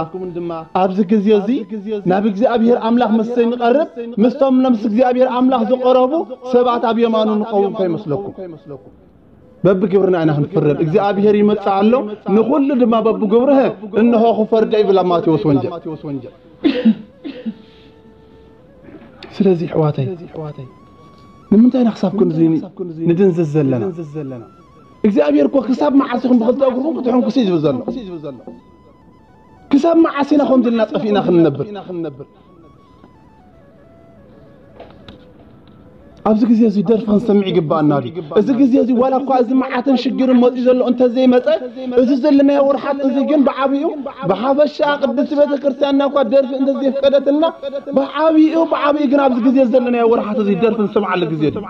ኣብዚ ግዜ እዚ ናብ እግዚኣብሔር ኣምላኽ ምስ ዘይንቐርብ፣ ምስቶም ምስ እግዚኣብሔር ኣምላኽ ዝቐረቡ ሰባት ኣብ የማኑ ንኸውን ከይመስለኩም። በብግብርና ኢና ክንፍረድ። እግዚኣብሔር ይመጽእ ኣሎ፣ ንኹሉ ድማ በብግብርህ እንሆ ክፈርዶ ይብል ኣብ ማቴዎስ ወንጌል። ስለዚ ኣሕዋተይ፣ ንምንታይ ኢና ክሳብ ክንድዚ ንድንዝዝ ዘለና? እግዚኣብሔር እኮ ክሳብ መዓስ ኢኹም ብኽልተ እግርኹም ክትሕንኩሱ እዩ ዝብል ዘሎ? ክሳብ መዓስ ኢና ከምዚ ኢልና ጠፊእና ክንነብር? ኣብዚ ግዜ እዚ ደርፊ ክንሰምዕ ይግባኣና ድዩ? እዚ ግዜ እዚ ዋላ እኳ እዚ መዓትን ሽግርን መፂኡ ዘሎ እንተዘይመፀ፣ እዚ ዘለናዮ ወርሓት እዚ ግን ብዓብዩ ብሓፈሻ ቅድስቲ ቤተ ክርስቲያንና እኳ ደርፊ እንተዘይፍቀደትና፣ ብዓብዩ ብዓብዩ ግን ኣብዚ ግዜ ዘለናዮ ወርሓት እዚ ደርፊ ንሰምዓሉ ግዜ ድዩ?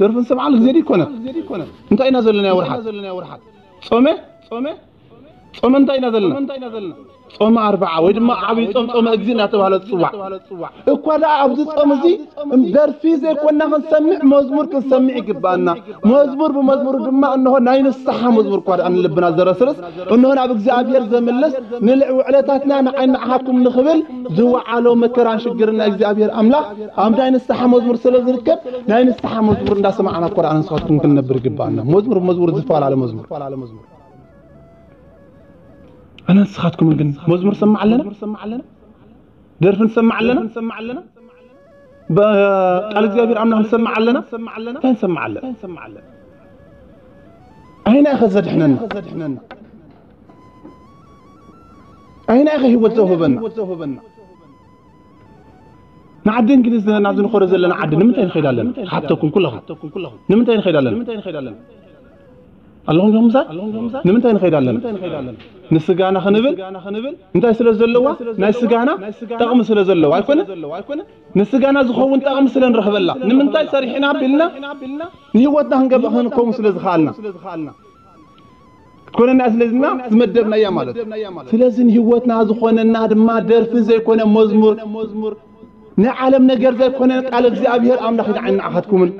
ደርፊ ንሰምዓሉ ግዜ ድዩ ይኮነን? እንታይ ኢና ዘለናዮ ወርሓት? ጾመ? ጾመ እንታይ ኢና ዘለና? ጾመ ኣርብዓ ወይ ድማ ዓብይ ጾም፣ ጾመ እግዚእ እናተባህለ ዝጽዋዕ። እኳ ደኣ ኣብዚ ጾም እዚ ደርፊ ዘይኮንና ክንሰምዕ፣ መዝሙር ክንሰምዕ ይግባኣና። መዝሙር ብመዝሙሩ ድማ እንሆ ናይ ንስሓ መዝሙር እኳ ደኣ ንልብና ዘረስርስ፣ እንሆ ናብ እግዚኣብሔር ዘምልስ፣ ንልዕ ውዕለታትና ንዓይ ንዓኻትኩም ንኽብል ዝወዓሎ መከራን ሽግርን ናይ እግዚኣብሔር ኣምላኽ ኣብ ናይ ንስሓ መዝሙር ስለ ዝርከብ፣ ናይ ንስሓ መዝሙር እንዳሰማዕና እኳ ደኣ ንስኻትኩም ክንነብር ይግባኣና። መዝሙር ብመዝሙር ዝተፈላለ መዝሙር። ኣነ ንስኻትኩምን ግን መዝሙር ንሰምዕ ኣለና? ደርፊ ንሰምዕ ኣለና? ብ-፣ ቃል እግዚኣብሔር ኣምላኽ ንሰምዕ ኣለና? እንታይ ንሰምዕ ኣለና? ኣየናይ ኢኸ ዘድሕነና? ኣየናይ ኢኸ ህይወት ዘውህበና? ንዓዲ እንግሊዝ ናብዚ ንኸዶ ዘለና ዓዲ ንምንታይ ንኸይድ ኣለና? ክሓተኩም ኩለኹም። ንምንታይ ንኸይድ ኣለና? ኣለኹም ዲኹም ምሳይ? ንምንታይ ንኸይድ ኣለና? ንስጋና ክንብል? እንታይ ስለ ዘለዋ? ናይ ስጋና ጠቕሚ ስለ ዘለዋ ኣይኮነ? ንስጋና ዝኸውን ጠቕሚ ስለ ንረኽበላ። ንምንታይ ሰሪሕና ቢልና? ንህይወትና ክንገብእ ክንከውን ስለ ዝኸኣልና። ክትኮነና ስለዝና ዝመደብናያ ማለት። ስለዚ ንህይወትና ዝኾነና ድማ ደርፊ ዘይኮነ መዝሙር፣ ናይ ዓለም ነገር ዘይኮነ ቃል እግዚኣብሔር ኣምላኽ ንዓይ ንዓኻትኩምን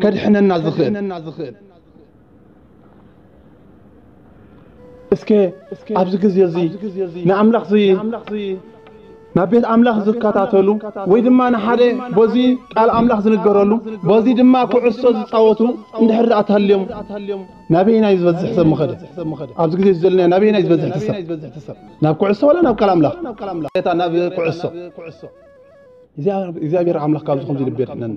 ከድሕነና ዝኽእል። እስከ ኣብዚ ግዜ እዚ ንኣምላኽ እዚ ናብ ቤት ኣምላኽ ዝከታተሉ ወይ ድማ ንሓደ በዚ ቃል ኣምላኽ ዝንገረሉ በዚ ድማ ኩዕሶ ዝጻወቱ እንድሕር ደኣ ተሃልዮም ናበይና እዩ ዝበዝሕ ሰብ ምኸደ? ኣብዚ ግዜ እዚ ዘለና ናበይና እዩ ዝበዝሕ ሰብ? ናብ ኩዕሶ ወላ ናብ ቃል ኣምላኽ? ጌታ ናብ ኩዕሶ እግዚኣብሔር ኣምላኽ ካብዚ ከምዚ ልቢ የድሕነና።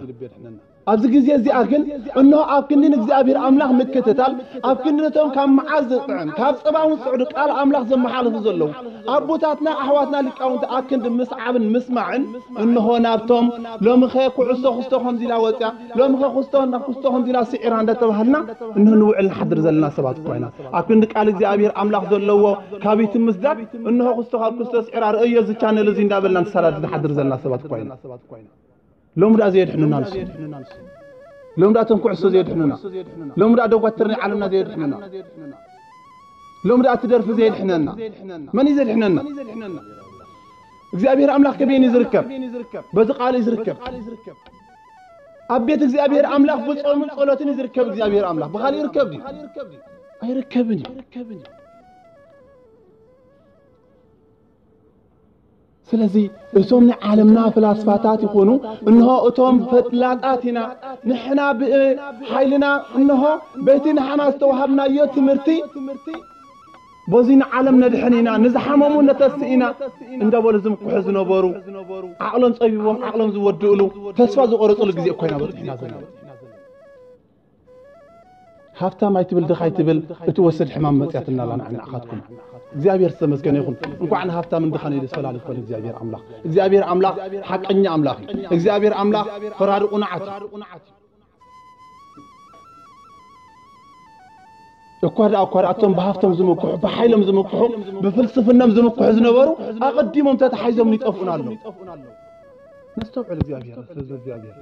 ኣብዚ ግዜ እዚኣ ግን እንሆ ኣብ ክንዲ ንእግዚኣብሔር ኣምላኽ ምክትታል ኣብ ክንዲ ነቶም ካብ መዓር ዝጥዕም ካብ ጸባ እውን ጽዕዱ ቃል ኣምላኽ ዘመሓልፉ ዘለዉ ኣቦታትና ኣሕዋትና ሊቃውንቲ ኣብ ክንዲ ምስዓብን ምስማዕን እንሆ ናብቶም ሎምኸ ኩዕሶ ክስቶ ከምዚ ኢላ ወፅያ ሎምኸ ክስቶ ናብ ክስቶ ከምዚ ኢላ ስዒራ እንዳተባሃልና እንሆ ንውዕል ንሓድር ዘለና ሰባት እኳ ኢና። ኣብ ክንዲ ቃል እግዚኣብሔር ኣምላኽ ዘለዎ ካብ ይትምስዳድ እንሆ ክስቶ ካብ ክስቶ ስዒራ ርእዮ እዚ ቻነል እዚ እንዳበልና ንሰዳድ ንሓድር ዘለና ሰባት እኳ ኢና። ሎም ደኣ ዘየድሕነና ንሱ ሎም ደኣ ተንኩዕሶ ዘየድሕነና ሎም ደኣ ደጓትር ናይ ዓለምና ዘየድሕነና ሎም ደኣ ትደርፊ ዘየድሕነና መን እዩ ዘድሕነና? እግዚኣብሔር ኣምላኽ ከበይን እዩ ዝርከብ? በዚ ቃል እዩ ዝርከብ። ኣብ ቤት እግዚኣብሔር ኣምላኽ ብጾምን ጸሎትን እዩ ዝርከብ። እግዚኣብሔር ኣምላኽ ብኻልእ ይርከብ ድዩ? ኣይርከብን እዩ። ስለዚ እቶም ናይ ዓለምና ፍላስፋታት ይኹኑ እንሆ እቶም ፈላጣት ኢና ንሕና ብሓይልና እንሆ በቲ ንሓና ዝተዋሃብናዮ ትምህርቲ በዚ ንዓለም ነድሕን ኢና ንዝሓመሙ ነተስእ ኢና እንዳበሉ ዝምክሑ ዝነበሩ ዓቕሎም ጸቢቦም ዓቕሎም ዝወድእሉ ተስፋ ዝቆረፅሉ ግዜ እኮ ኢና በፂሕና ዘለና። ሃብታም ኣይትብል ድኻ ኣይትብል እቲ ወስድ ሕማም መፅያትና ኣላ ንዓይ ንዓኻትኩም እግዚኣብሔር ዝተመስገነ ይኹን። እንኳዕ ንሃብታምን ድኻን እዩ ዝፈላሊ ዝኾነ እግዚኣብሔር ኣምላኽ እግዚኣብሔር ኣምላኽ ሓቀኛ ኣምላኽ እዩ። እግዚኣብሔር ኣምላኽ ፈራዲ ቁኑዓት እዩ። እኳ ደኣ እኳ ደኣ እቶም ብሃፍቶም ዝምክሑ ብሓይሎም ዝምክሑ ብፍልስፍኖም ዝምክሑ ዝነበሩ ኣቐዲሞም ተተሓይዞም ይጠፍኡና ኣለዉ። ነስተውዕል እግዚኣብሔር ህዝቢ እግዚኣብሔር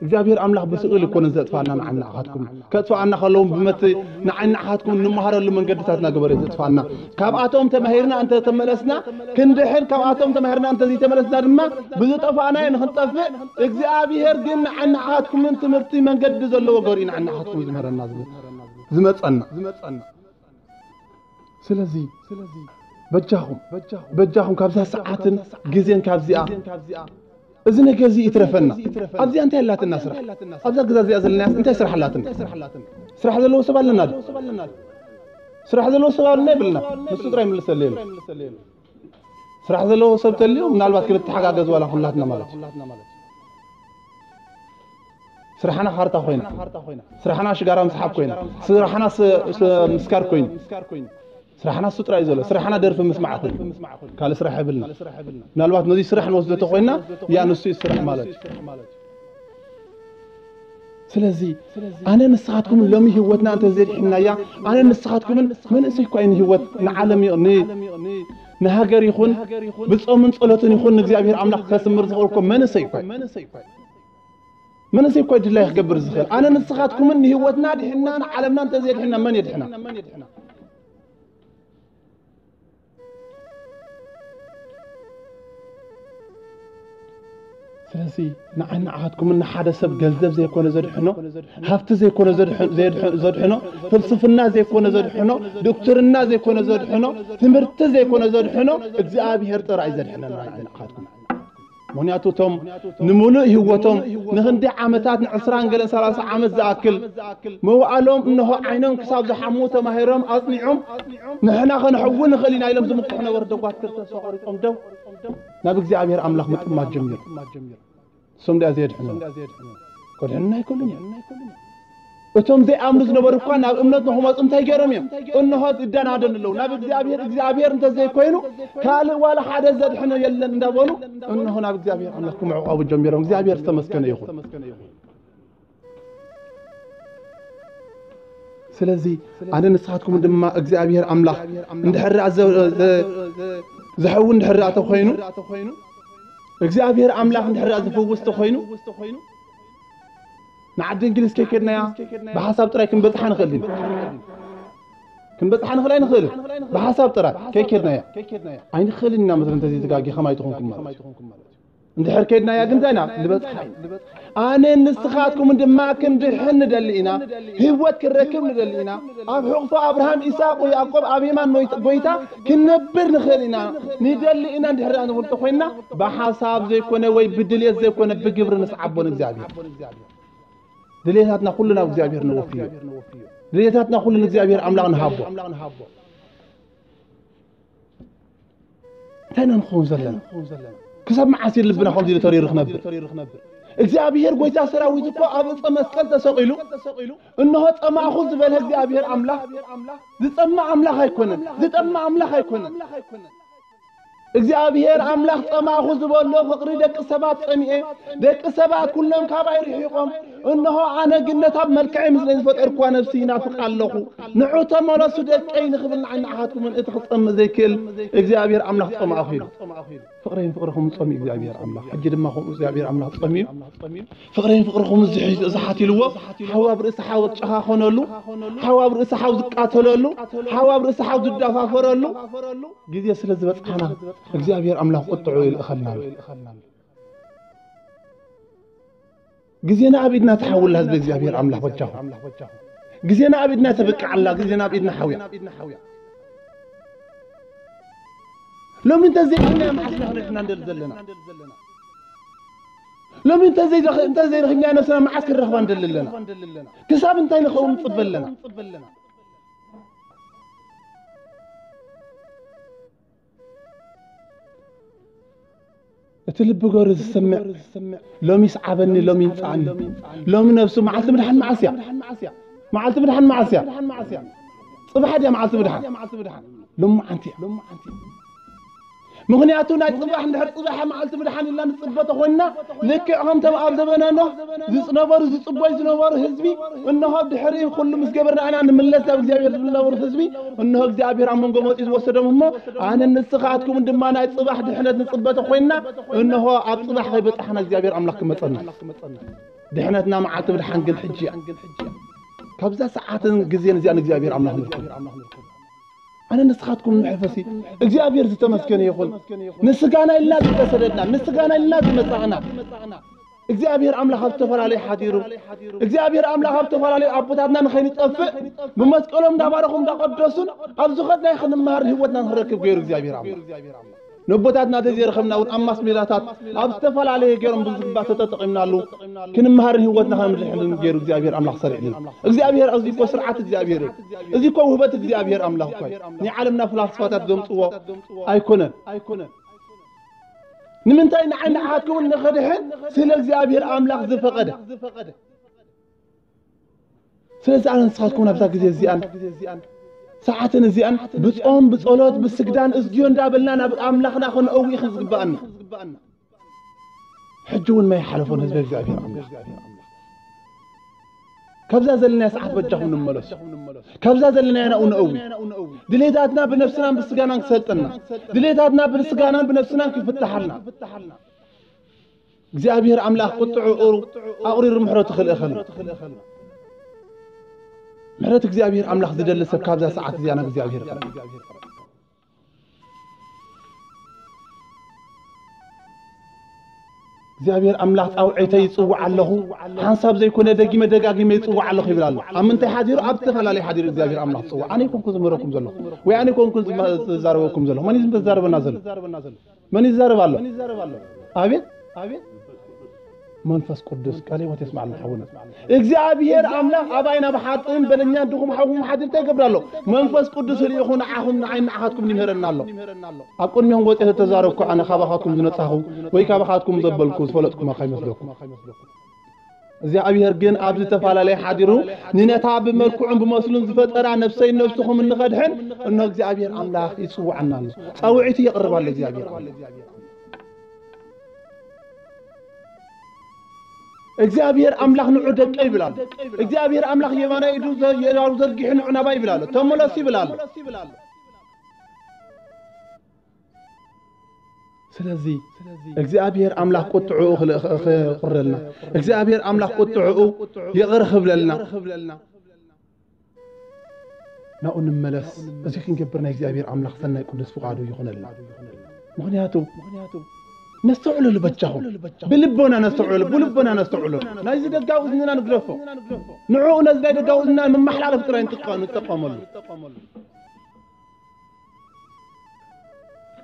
እግዚኣብሔር ኣምላኽ ብስእል እኮ ንዘጥፋና ንዓናኻትኩም ከጥፋኣና ከለውን ብመት ንዓናኻትኩም እንመሃረሉ መንገድታት እናገበረ ዘጥፋና ካብኣቶም ተማሂርና እንተተመለስና ክንድሕን ካብኣቶም ተማሂርና እንተዘይተመለስና ድማ ብዝጠፋእናዮ ንክንጠፍእ እግዚኣብሔር ግን ንዓናኻትኩምን ትምህርቲ መንገዲ ዘለዎ ገር ንዓናኻትኩም ዝምህረና ዝመፀና ስለዚ በጃኹም በጃኹም ካብዛ ሰዓትን ግዜን ካብዚኣ እዚ ነገር እዚ ይትረፈና ኣብዚኣ እንታይ ኣላትና ስራሕ ኣብዛ ገዛ እዚኣ ዘለና እንታይ ስራሕ ኣላትና ስራሕ ዘለዎ ሰብ ኣለና ስራሕ ዘለዎ ሰብ ኣለና ይብልና ንሱ ጥራይ ይምልሰሉ የለ ስራሕ ዘለዎ ሰብ ተልዩ ምናልባት ክንተሓጋገዝ ዋላ ኩላትና ማለት እዩ ስራሕና ካርታ ኮይና ስራሕና ሽጋራ ምስሓብ ኮይና ስራሕና ምስካር ኮይኑ ስራሕና እሱ ጥራይ ዘሎ ስራሕና ደርፊ ምስማዕ ኮይኑ ካልእ ስራሕ የብልና ምናልባት ነዚ ስራሕ ንወስዶ ተኮይና ያ ንሱ እዩ ስራሕ ማለት እዩ ስለዚ ኣነ ንስኻትኩምን ሎሚ ህይወትና እንተ ዘድሕናያ ኣነ ንስኻትኩምን መንእሰይ እኳ እዩ ንህይወት ንዓለም ንሃገር ይኹን ብጾምን ጸሎትን ይኹን ንእግዚኣብሔር ኣምላኽ ከስምር ዝኽእል እኮ መንእሰይ እኳ መንእሰይ እኳ ድላይ ክገብር ዝኽእል ኣነ ንስኻትኩምን ንህይወትና ድሕና ንዓለምና እንተ ዘድሕና መን የድሕና ስለዚ ንዓይ ንዓኻትኩምን ንሓደ ሰብ ገንዘብ ዘይኮነ ዘድሕኖ ሃብቲ ዘይኮነ ዘድሕኖ ፍልስፍና ዘይኮነ ዘድሕኖ ዶክትርና ዘይኮነ ዘድሕኖ ትምህርቲ ዘይኮነ ዘድሕኖ እግዚኣብሔር ጥራይ ዘድሕነና ንዓይ ንዓኻትኩም ምኽንያቱ እቶም ንምሉእ ህይወቶም ንክንደይ ዓመታት ንዕስራን ገለን ሰላሳ ዓመት ዝኣክል መዋእሎም እንሆ ዓይኖም ክሳብ ዝሓሙ ተማሂሮም ኣፅኒዖም ንሕና ከነሕዊ ንኽእል ኢና ኢሎም ዝምክሑ ነበሩ ደጓትር ተስፋ ቆሪፆም ደው ናብ እግዚኣብሔር ኣምላኽ ምጥማት ጀሚሩ እሶም ዲኣ ዘየድሕኑ ከድሕንና ኣይክእሉን እዮም እቶም ዘይኣምኑ ዝነበሩ እኳ ናብ እምነት ንክመፁ እንታይ ገይሮም እዮም እንሆ ዝደናደኑ ኣለዉ ናብ እግዚኣብሔር እግዚኣብሔር እንተዘይኮይኑ ካልእ ዋላ ሓደ ዘድሕኖ የለን እንዳበሉ እንሆ ናብ እግዚኣብሔር ኣምላኽ ክምዕቋቡ ጀሚሮም እግዚኣብሔር ዝተመስገነ ይኹን ስለዚ ኣነ ንስኻትኩም ድማ እግዚኣብሔር ኣምላኽ እንድሕር ዝሕዊ እንድሕር ተኮይኑ እግዚኣብሔር ኣምላኽ እንድሕር ዝፍውስ ተኮይኑ ንዓዲ እንግሊዝ ከይከድናያ ብሓሳብ ጥራይ ክንበፅሓ ንኽእል ኢና ክንበፅሓ ንኽእል ኣይንኽእልን ብሓሳብ ጥራይ ከይከድናያ ኣይንኽእልን ኢና መስለ እንተዘይተጋጊ ከማይ ትኾንኩም ማለት እዩ እንድሕር ከይድናያ ግን እንታይ ኢና ንበፅሓ ኢና ኣነን ንስኻትኩምን ድማ ክንድሕን ንደሊ ኢና፣ ህይወት ክንረክብ ንደሊ ኢና። ኣብ ሕቑፎ ኣብርሃም፣ ይስሐቅ ወያዕቆብ ኣብ የማን ኖይት-፣ ጎይታ ክንነብር ንኽእል ኢና። ንደሊ ኢና እንድሕር ደኣ ንብል እንተኾይንና፣ ብሓሳብ ዘይኮነ ወይ ብድልየት ዘይኮነ ብግብሪ ንስዓቦ ንእግዚኣብሔር። ድልየታትና ኩሉ ናብ እግዚኣብሔር ነወፍዮ። ድልየታትና ኩሉ ንእግዚኣብሔር ኣምላኽ ንሃቦ። እንታይ ኢና ንኸውን ዘለና? ክሳብ መዓስ እዩ ልብና ከምዚ ኢሉ ተሪሩ ክነብር? እግዚኣብሔር ጎይታ ሰራዊት እኮ ኣብ ዕፀ መስቀል ተሰቒሉ፣ እንሆ ጸማእኹ ዝበለ እግዚኣብሔር ኣምላኽ ዝጸምእ ኣምላኽ ኣይኮነን። ዝጠምእ ኣምላኽ ኣይኮነን። እግዚኣብሔር ኣምላኽ ጸማእኹ ዝበሎ ፍቕሪ ደቂ ሰባት ጸሚኤ፣ ደቂ ሰባት ኩሎም ካባይ ርሒቖም፣ እንሆ ኣነ ግን ነታ ብመልክዐይ ምስለይ ዝፈጠርኩዋ ነፍሲ ይናፍቃ ኣለኹ። ንዑ ተመለሱ ደቀይ ንኽብል ንዓይ ንዓኻትኩምን እቲ ክጸምእ ዘይክእል እግዚኣብሔር ኣምላኽ ጸማእኹ ኢሉ። ፍቕረይን ፍቕርኹምን ጸሚኡ እግዚኣብሔር ኣምላኽ። ሕጂ ድማ ከምኡ እግዚኣብሔር ኣምላኽ ጸሚኡ፣ ፍቕረይን ፍቕርኹምን ዝሕ-፣ ዝሓት ኢልዎ፣ ሓው ኣብ ርእሲ ሓው ዝጨኻኸነሉ፣ ሓው ኣብ ርእሲ ሓው ዝቃተለሉ፣ ሓው ኣብ ርእሲ ሓው ዝደፋፈረሉ ግዜ ስለ ዝበጽሓና እግዚኣብሔር ኣምላኽ ቁጥዑ ይልእኸልና ኣሎ። ግዜና ኣብ ኢድና ትሓውላ ህዝቢ እግዚኣብሔር ኣምላኽ በጃኹም። ግዜና ኣብ ኢድና ተብቅዓላ፣ ግዜና ኣብ ኢድና ሓውያ። ሎሚ እንተዘይኮንና መዓስ ኢና ክንሕና እንደሊ ዘለና? ሎሚ እንተዘይረኽ-፣ እንተዘይረኺብና ነብስና መዓስ ክንረኽባ እንደሊ ኣለና? ክሳብ እንታይ ንኸውን ንጽበ ኣለና? እቲ ልቢ ገሩ ዝስምዕ፣ ሎሚ ይስዓበኒ፣ ሎሚ ይምጽኣኒ። ሎሚ ነብሱ መዓልቲ ምድሓን መዓስ እያ? መዓልቲ ምድሓን መዓስ እያ? ጽባሕ ድያ መዓልቲ ምድሓን? ሎማዓንቲ እያ። ምኽንያቱ ናይ ጽባሕ እንድሕር ጽባሕ መዓልቲ ምድሓን ኢልና ንጽበ ተኾንና፣ ልክዕ ከምቶም ኣብ ዘበነ ኖህ ዝነበሩ፣ ዝጽበዩ ዝነበሩ ህዝቢ፣ እንሆ ድሕሪ ኩሉ ምስ ገበርና ኢና ንምለስ ናብ እግዚኣብሔር ዝብል ዝነበሩ ህዝቢ፣ እንሆ እግዚኣብሔር ኣብ መንጎ መጺኡ ዝወሰዶም እሞ፣ ኣነን ንስኻትኩምን ድማ ናይ ጽባሕ ድሕነት ንጽበ ተኾይንና፣ እንሆ ኣብ ጽባሕ ከይበጻሕና እግዚኣብሔር ኣምላኽ ክመጸና። ድሕነትና መዓልቲ ምድሓን ግን ሕጂ እያ። ካብዛ ሰዓትን ግዜን እዚኣ ንእግዚኣብሔር ኣምላኽ ንርኩብ። ኣነ ንስኻትኩም ንሕፈሲ። እግዚኣብሔር ዝተመስገነ ይኹን። ንስጋና ኢልና ዝተሰደድና፣ ንስጋና ኢልና ዝመጻእና፣ እግዚኣብሔር ኣምላኽ ኣብ ዝተፈላለየ ሓዲሩ፣ እግዚኣብሔር ኣምላኽ ኣብ ዝተፈላለየ ኣቦታትና ንኸይንጠፍእ ብመስቀሎም እንዳባረኹ እንዳቐደሱን ኣብ ዝኸድናዮ ክንመሃር ህይወትና ንኽንረክብ ገይሩ እግዚኣብሔር ኣምላኽ። ነቦታትና ተዘይረኸብና እውን ኣብ ማስ ሜዳታት ኣብ ዝተፈላለየ ገይሮም ብዝግባእ ተጠቂምናሉ ክንመሃርን ህይወትና ከነምርሕን ገይሩ እግዚኣብሔር ኣምላኽ ሰሪዕልና። እግዚኣብሔር እዚ እኮ ስርዓት እግዚኣብሔር እዩ። እዚ እኮ ውህበት እግዚኣብሔር ኣምላኽ እኮ እዩ። ናይ ዓለምና ፍላስፋታት ዘምጽዎ ኣይኮነን። ንምንታይ ንዓይ ንዓኻትኩም ንኽድሕን? ስለ እግዚኣብሔር ኣምላኽ ዝፈቐደ። ስለዚ ኣነ ንስኻትኩም ኣብዛ ግዜ እዚኣን ሰዓትን እዚኣን ብጾም ብጸሎት ብስግዳን እዝግዮ እንዳበልና ናብ ኣምላኽና ክንእዊ እዩ ዝግባኣና። ሕጂ እውን ማይ ሓለፎን ህዝቢ እግዚኣብሔር ኣምላኽ። ካብዛ ዘለናያ ሰዓት በጃኹም ንመለስ። ካብዛ ዘለናያ ናብኡ ንእዊ። ድሌታትና ብነፍስናን ብስጋናን ክሰልጠና። ድሌታትና ብስጋናን ብነፍስናን ክፍትሓልና። እግዚኣብሔር ኣምላኽ ቁጥዕኡ ኣቑሪሩ ምሕረቱ ክልእኸልና። ምሕረት እግዚኣብሔር ኣምላኽ ዝደሊ ሰብ ካብዛ ሰዓት እዚኣ ናብ እግዚኣብሔር ይቕረብ። እግዚኣብሔር ኣምላኽ ጻውዒተይ ይጽውዕ ኣለኹ፣ ሓንሳብ ዘይኮነ ደጊመ ደጋጊመ ይጽውዕ ኣለኹ ይብል ኣሎ። ኣብ ምንታይ ሓዲሩ? ኣብ ዝተፈላለየ ሓዲሩ እግዚኣብሔር ኣምላኽ ዝጽውዕ። ኣነ ኣይኮንኩን ዝምህረኩም ዘለኹ፣ ወይ ኣነ ኣይኮንኩን ዝመ-፣ ዝዛረበኩም ዘለኹ። መን እዩ ዝዛረበና ዘሎ? መን ይዛረብ ኣሎ? ኣቤት፣ ኣቤት። መንፈስ ቅዱስ ቃለ ሕይወት የስማዕልና ሓውና። እግዚኣብሔር ኣምላኽ ኣባይ ናብ ሓጥእን በደኛን ድኹም ሓውኹም ሓድር እንታይ ይገብር ኣሎ? መንፈስ ቅዱስ ልኢኹ ንዓኹም ንዓይ ንዓኻትኩም ይምህረና ኣሎ። ኣብ ቅድሚኹም ወፂአ ዝተዛረብኩ ኣነ ካባኻትኩም ዝነጻኹ ወይ ካባኻትኩም ዘበልኩ ዝፈለጥኩማ ከይመስለኩም። እግዚኣብሔር ግን ኣብ ዝተፈላለየ ሓዲሩ ንነታ ብመልክዑን ብመስሉን ዝፈጠራ ነፍሰይ ነፍስኹም እንኸድሕን እነሆ እግዚኣብሔር ኣምላኽ ይጽውዓና ኣሎ። ጻውዒቱ የቕርብ ኣሎ እግዚኣብሔር ኣምላኽ። እግዚኣብሔር ኣምላኽ ንዑ ደቀ ይብል ኣሎ። እግዚኣብሔር ኣምላኽ የማናይ ኢዱ ዘ-፣ የዳሩ ዘርጊሑ ንዑ ናባይ ይብል ኣሎ። ተመለሱ ይብል ኣሎ። ስለዚ እግዚኣብሔር ኣምላኽ ቁጥዕኡ ክል-፣ ክ-፣ ክቑረልና፣ እግዚኣብሔር ኣምላኽ ቁጥዕኡ ይቕር ክብለልና፣ ናብኡ ንመለስ። እዚ ክንገብር ናይ እግዚኣብሔር ኣምላኽ ሰናይ ቅዱስ ፍቓዱ ይኹነልና። ምኽንያቱ ነስተውዕለሉ በጃኹም። ብልቦና ነስተውዕለሉ፣ ብልቦና ነስተውዕለሉ። ናይዚ ደጋዊ እዝንና ንግደፎ። ንዕኡ ነዚ ናይ ደጋዊ እዝንና መመሓላለፊ ጥራይ ንጥቀ-፣ ንጠቀመሉ።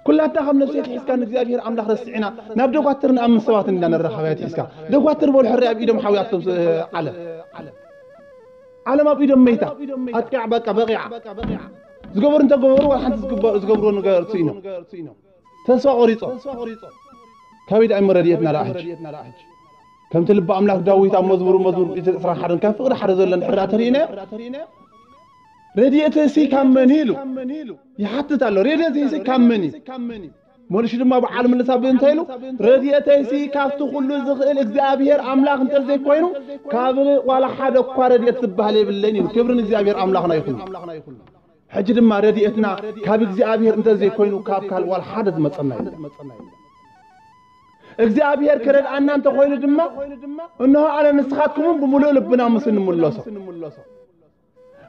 ኩላትና ከም ነፍሲ ትሒዝካ ንእግዚኣብሔር ኣምላኽ ረሲዕና ናብ ደጓትር ንኣምን ሰባት እንዳነራኸበ ትሒዝካ። ደጓትር በሉ ሕራይ ኣብ ኢዶም ሓውያቶም ስ-፣ ዓለም። ዓለም ኣብ ኢዶም መይታ። ኣጥቂዓ በቃ በቂዓ። ዝገበሩ እንተገበሩ ዋላ ሓንቲ ዝግበ-፣ ዝገብርዎ ነገር ስኢኖም። ተስፋ ቆሪጾም። ካበይ ደኣ እሞ ረድኤትና ደኣ ሕጂ? ከምቲ ልቢ ኣምላኽ ዳዊት ኣብ መዝሙሩ፣ መዝሙር ዕስራን ሓደን ካብ ፍቕሪ ሓደ ዘሎ እንድሕር ደኣ ተሪእናዮ፣ ረድኤተይሲ ካብ መን እዩ ኢሉ ይሓትት ኣሎ። ረድኤተይሲ ካብ መን እዩ? መልሱ ድማ በዓል ምልሳ ብእንተ ኢሉ፣ ረድኤተይሲ ካብቲ ኩሉ ዝኽእል እግዚኣብሔር ኣምላኽ እንተ ዘይኮይኑ፣ ካብ ዋላ ሓደ እኳ ረድኤት ዝበሃል የብለይን ኢሉ። ክብሪ ንእግዚኣብሔር ኣምላኽና ይኹን። ሕጂ ድማ ረድኤትና ካብ እግዚኣብሔር እንተ ዘይኮይኑ፣ ካብ ካልእ ዋላ ሓደ ዝመጸና የለን። እግዚኣብሔር ክረድኣና እንተኾይኑ ድማ፣ እንሆ ኣነ ንስኻትኩምን ብምሉእ ልብና ምስ እንምለሶ፣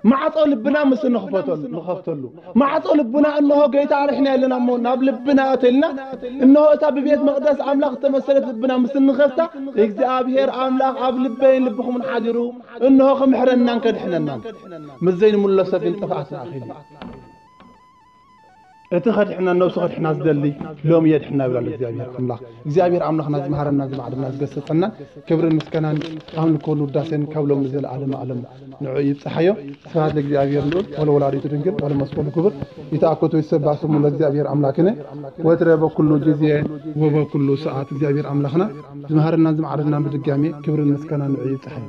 ማዕጾ ልብና ምስ እንኽፈተሉ፣ ንኸፍተሉ፣ ማዕጾ ልብና እንሆ ጌታ ኣርሕና ኣለና እሞ ናብ ልብና ኣተልና፣ እንሆ እታ ብቤት መቕደስ ኣምላኽ እተመሰለት ልብና ምስ እንኸፍታ፣ እግዚኣብሔር ኣምላኽ ኣብ ልበይን ልብኹምን ሓዲሩ፣ እንሆ ክምሕረናን ከድሕነናን። ምስ ዘይንምለሶ ግን ጥፍኣትና ኣኺሉ። እቲ ከድሕና፣ ነብሱ ከድሕና ዝደሊ ሎሚ የድሕና ይብል ኣሎ እግዚኣብሔር ኣምላኽ። እግዚኣብሔር ኣምላኽና ዝመሃረና፣ ዝማዕደና፣ ዝገሰጸና ክብርን ምስጋናን ኣምልኮን ውዳሴን ካብ ሎሚ ዘለዓለመ ዓለም ንዑ ይብጽሓዮ። ስብሐት ለእግዚኣብሔር ልዑል ወለወላዲቱ ድንግል ወለመስቀሉ ክቡር። ይትአኮቱ ይትሰባህ ስሙ ለእግዚኣብሔር ኣምላክነ ወትረ በኩሉ ጊዜ ወበኩሉ ሰዓት። እግዚኣብሔር ኣምላኽና ዝመሃረና ዝማዕደና ብድጋሜ ክብርን ምስጋናን ንዑ ይብጽሓዮ።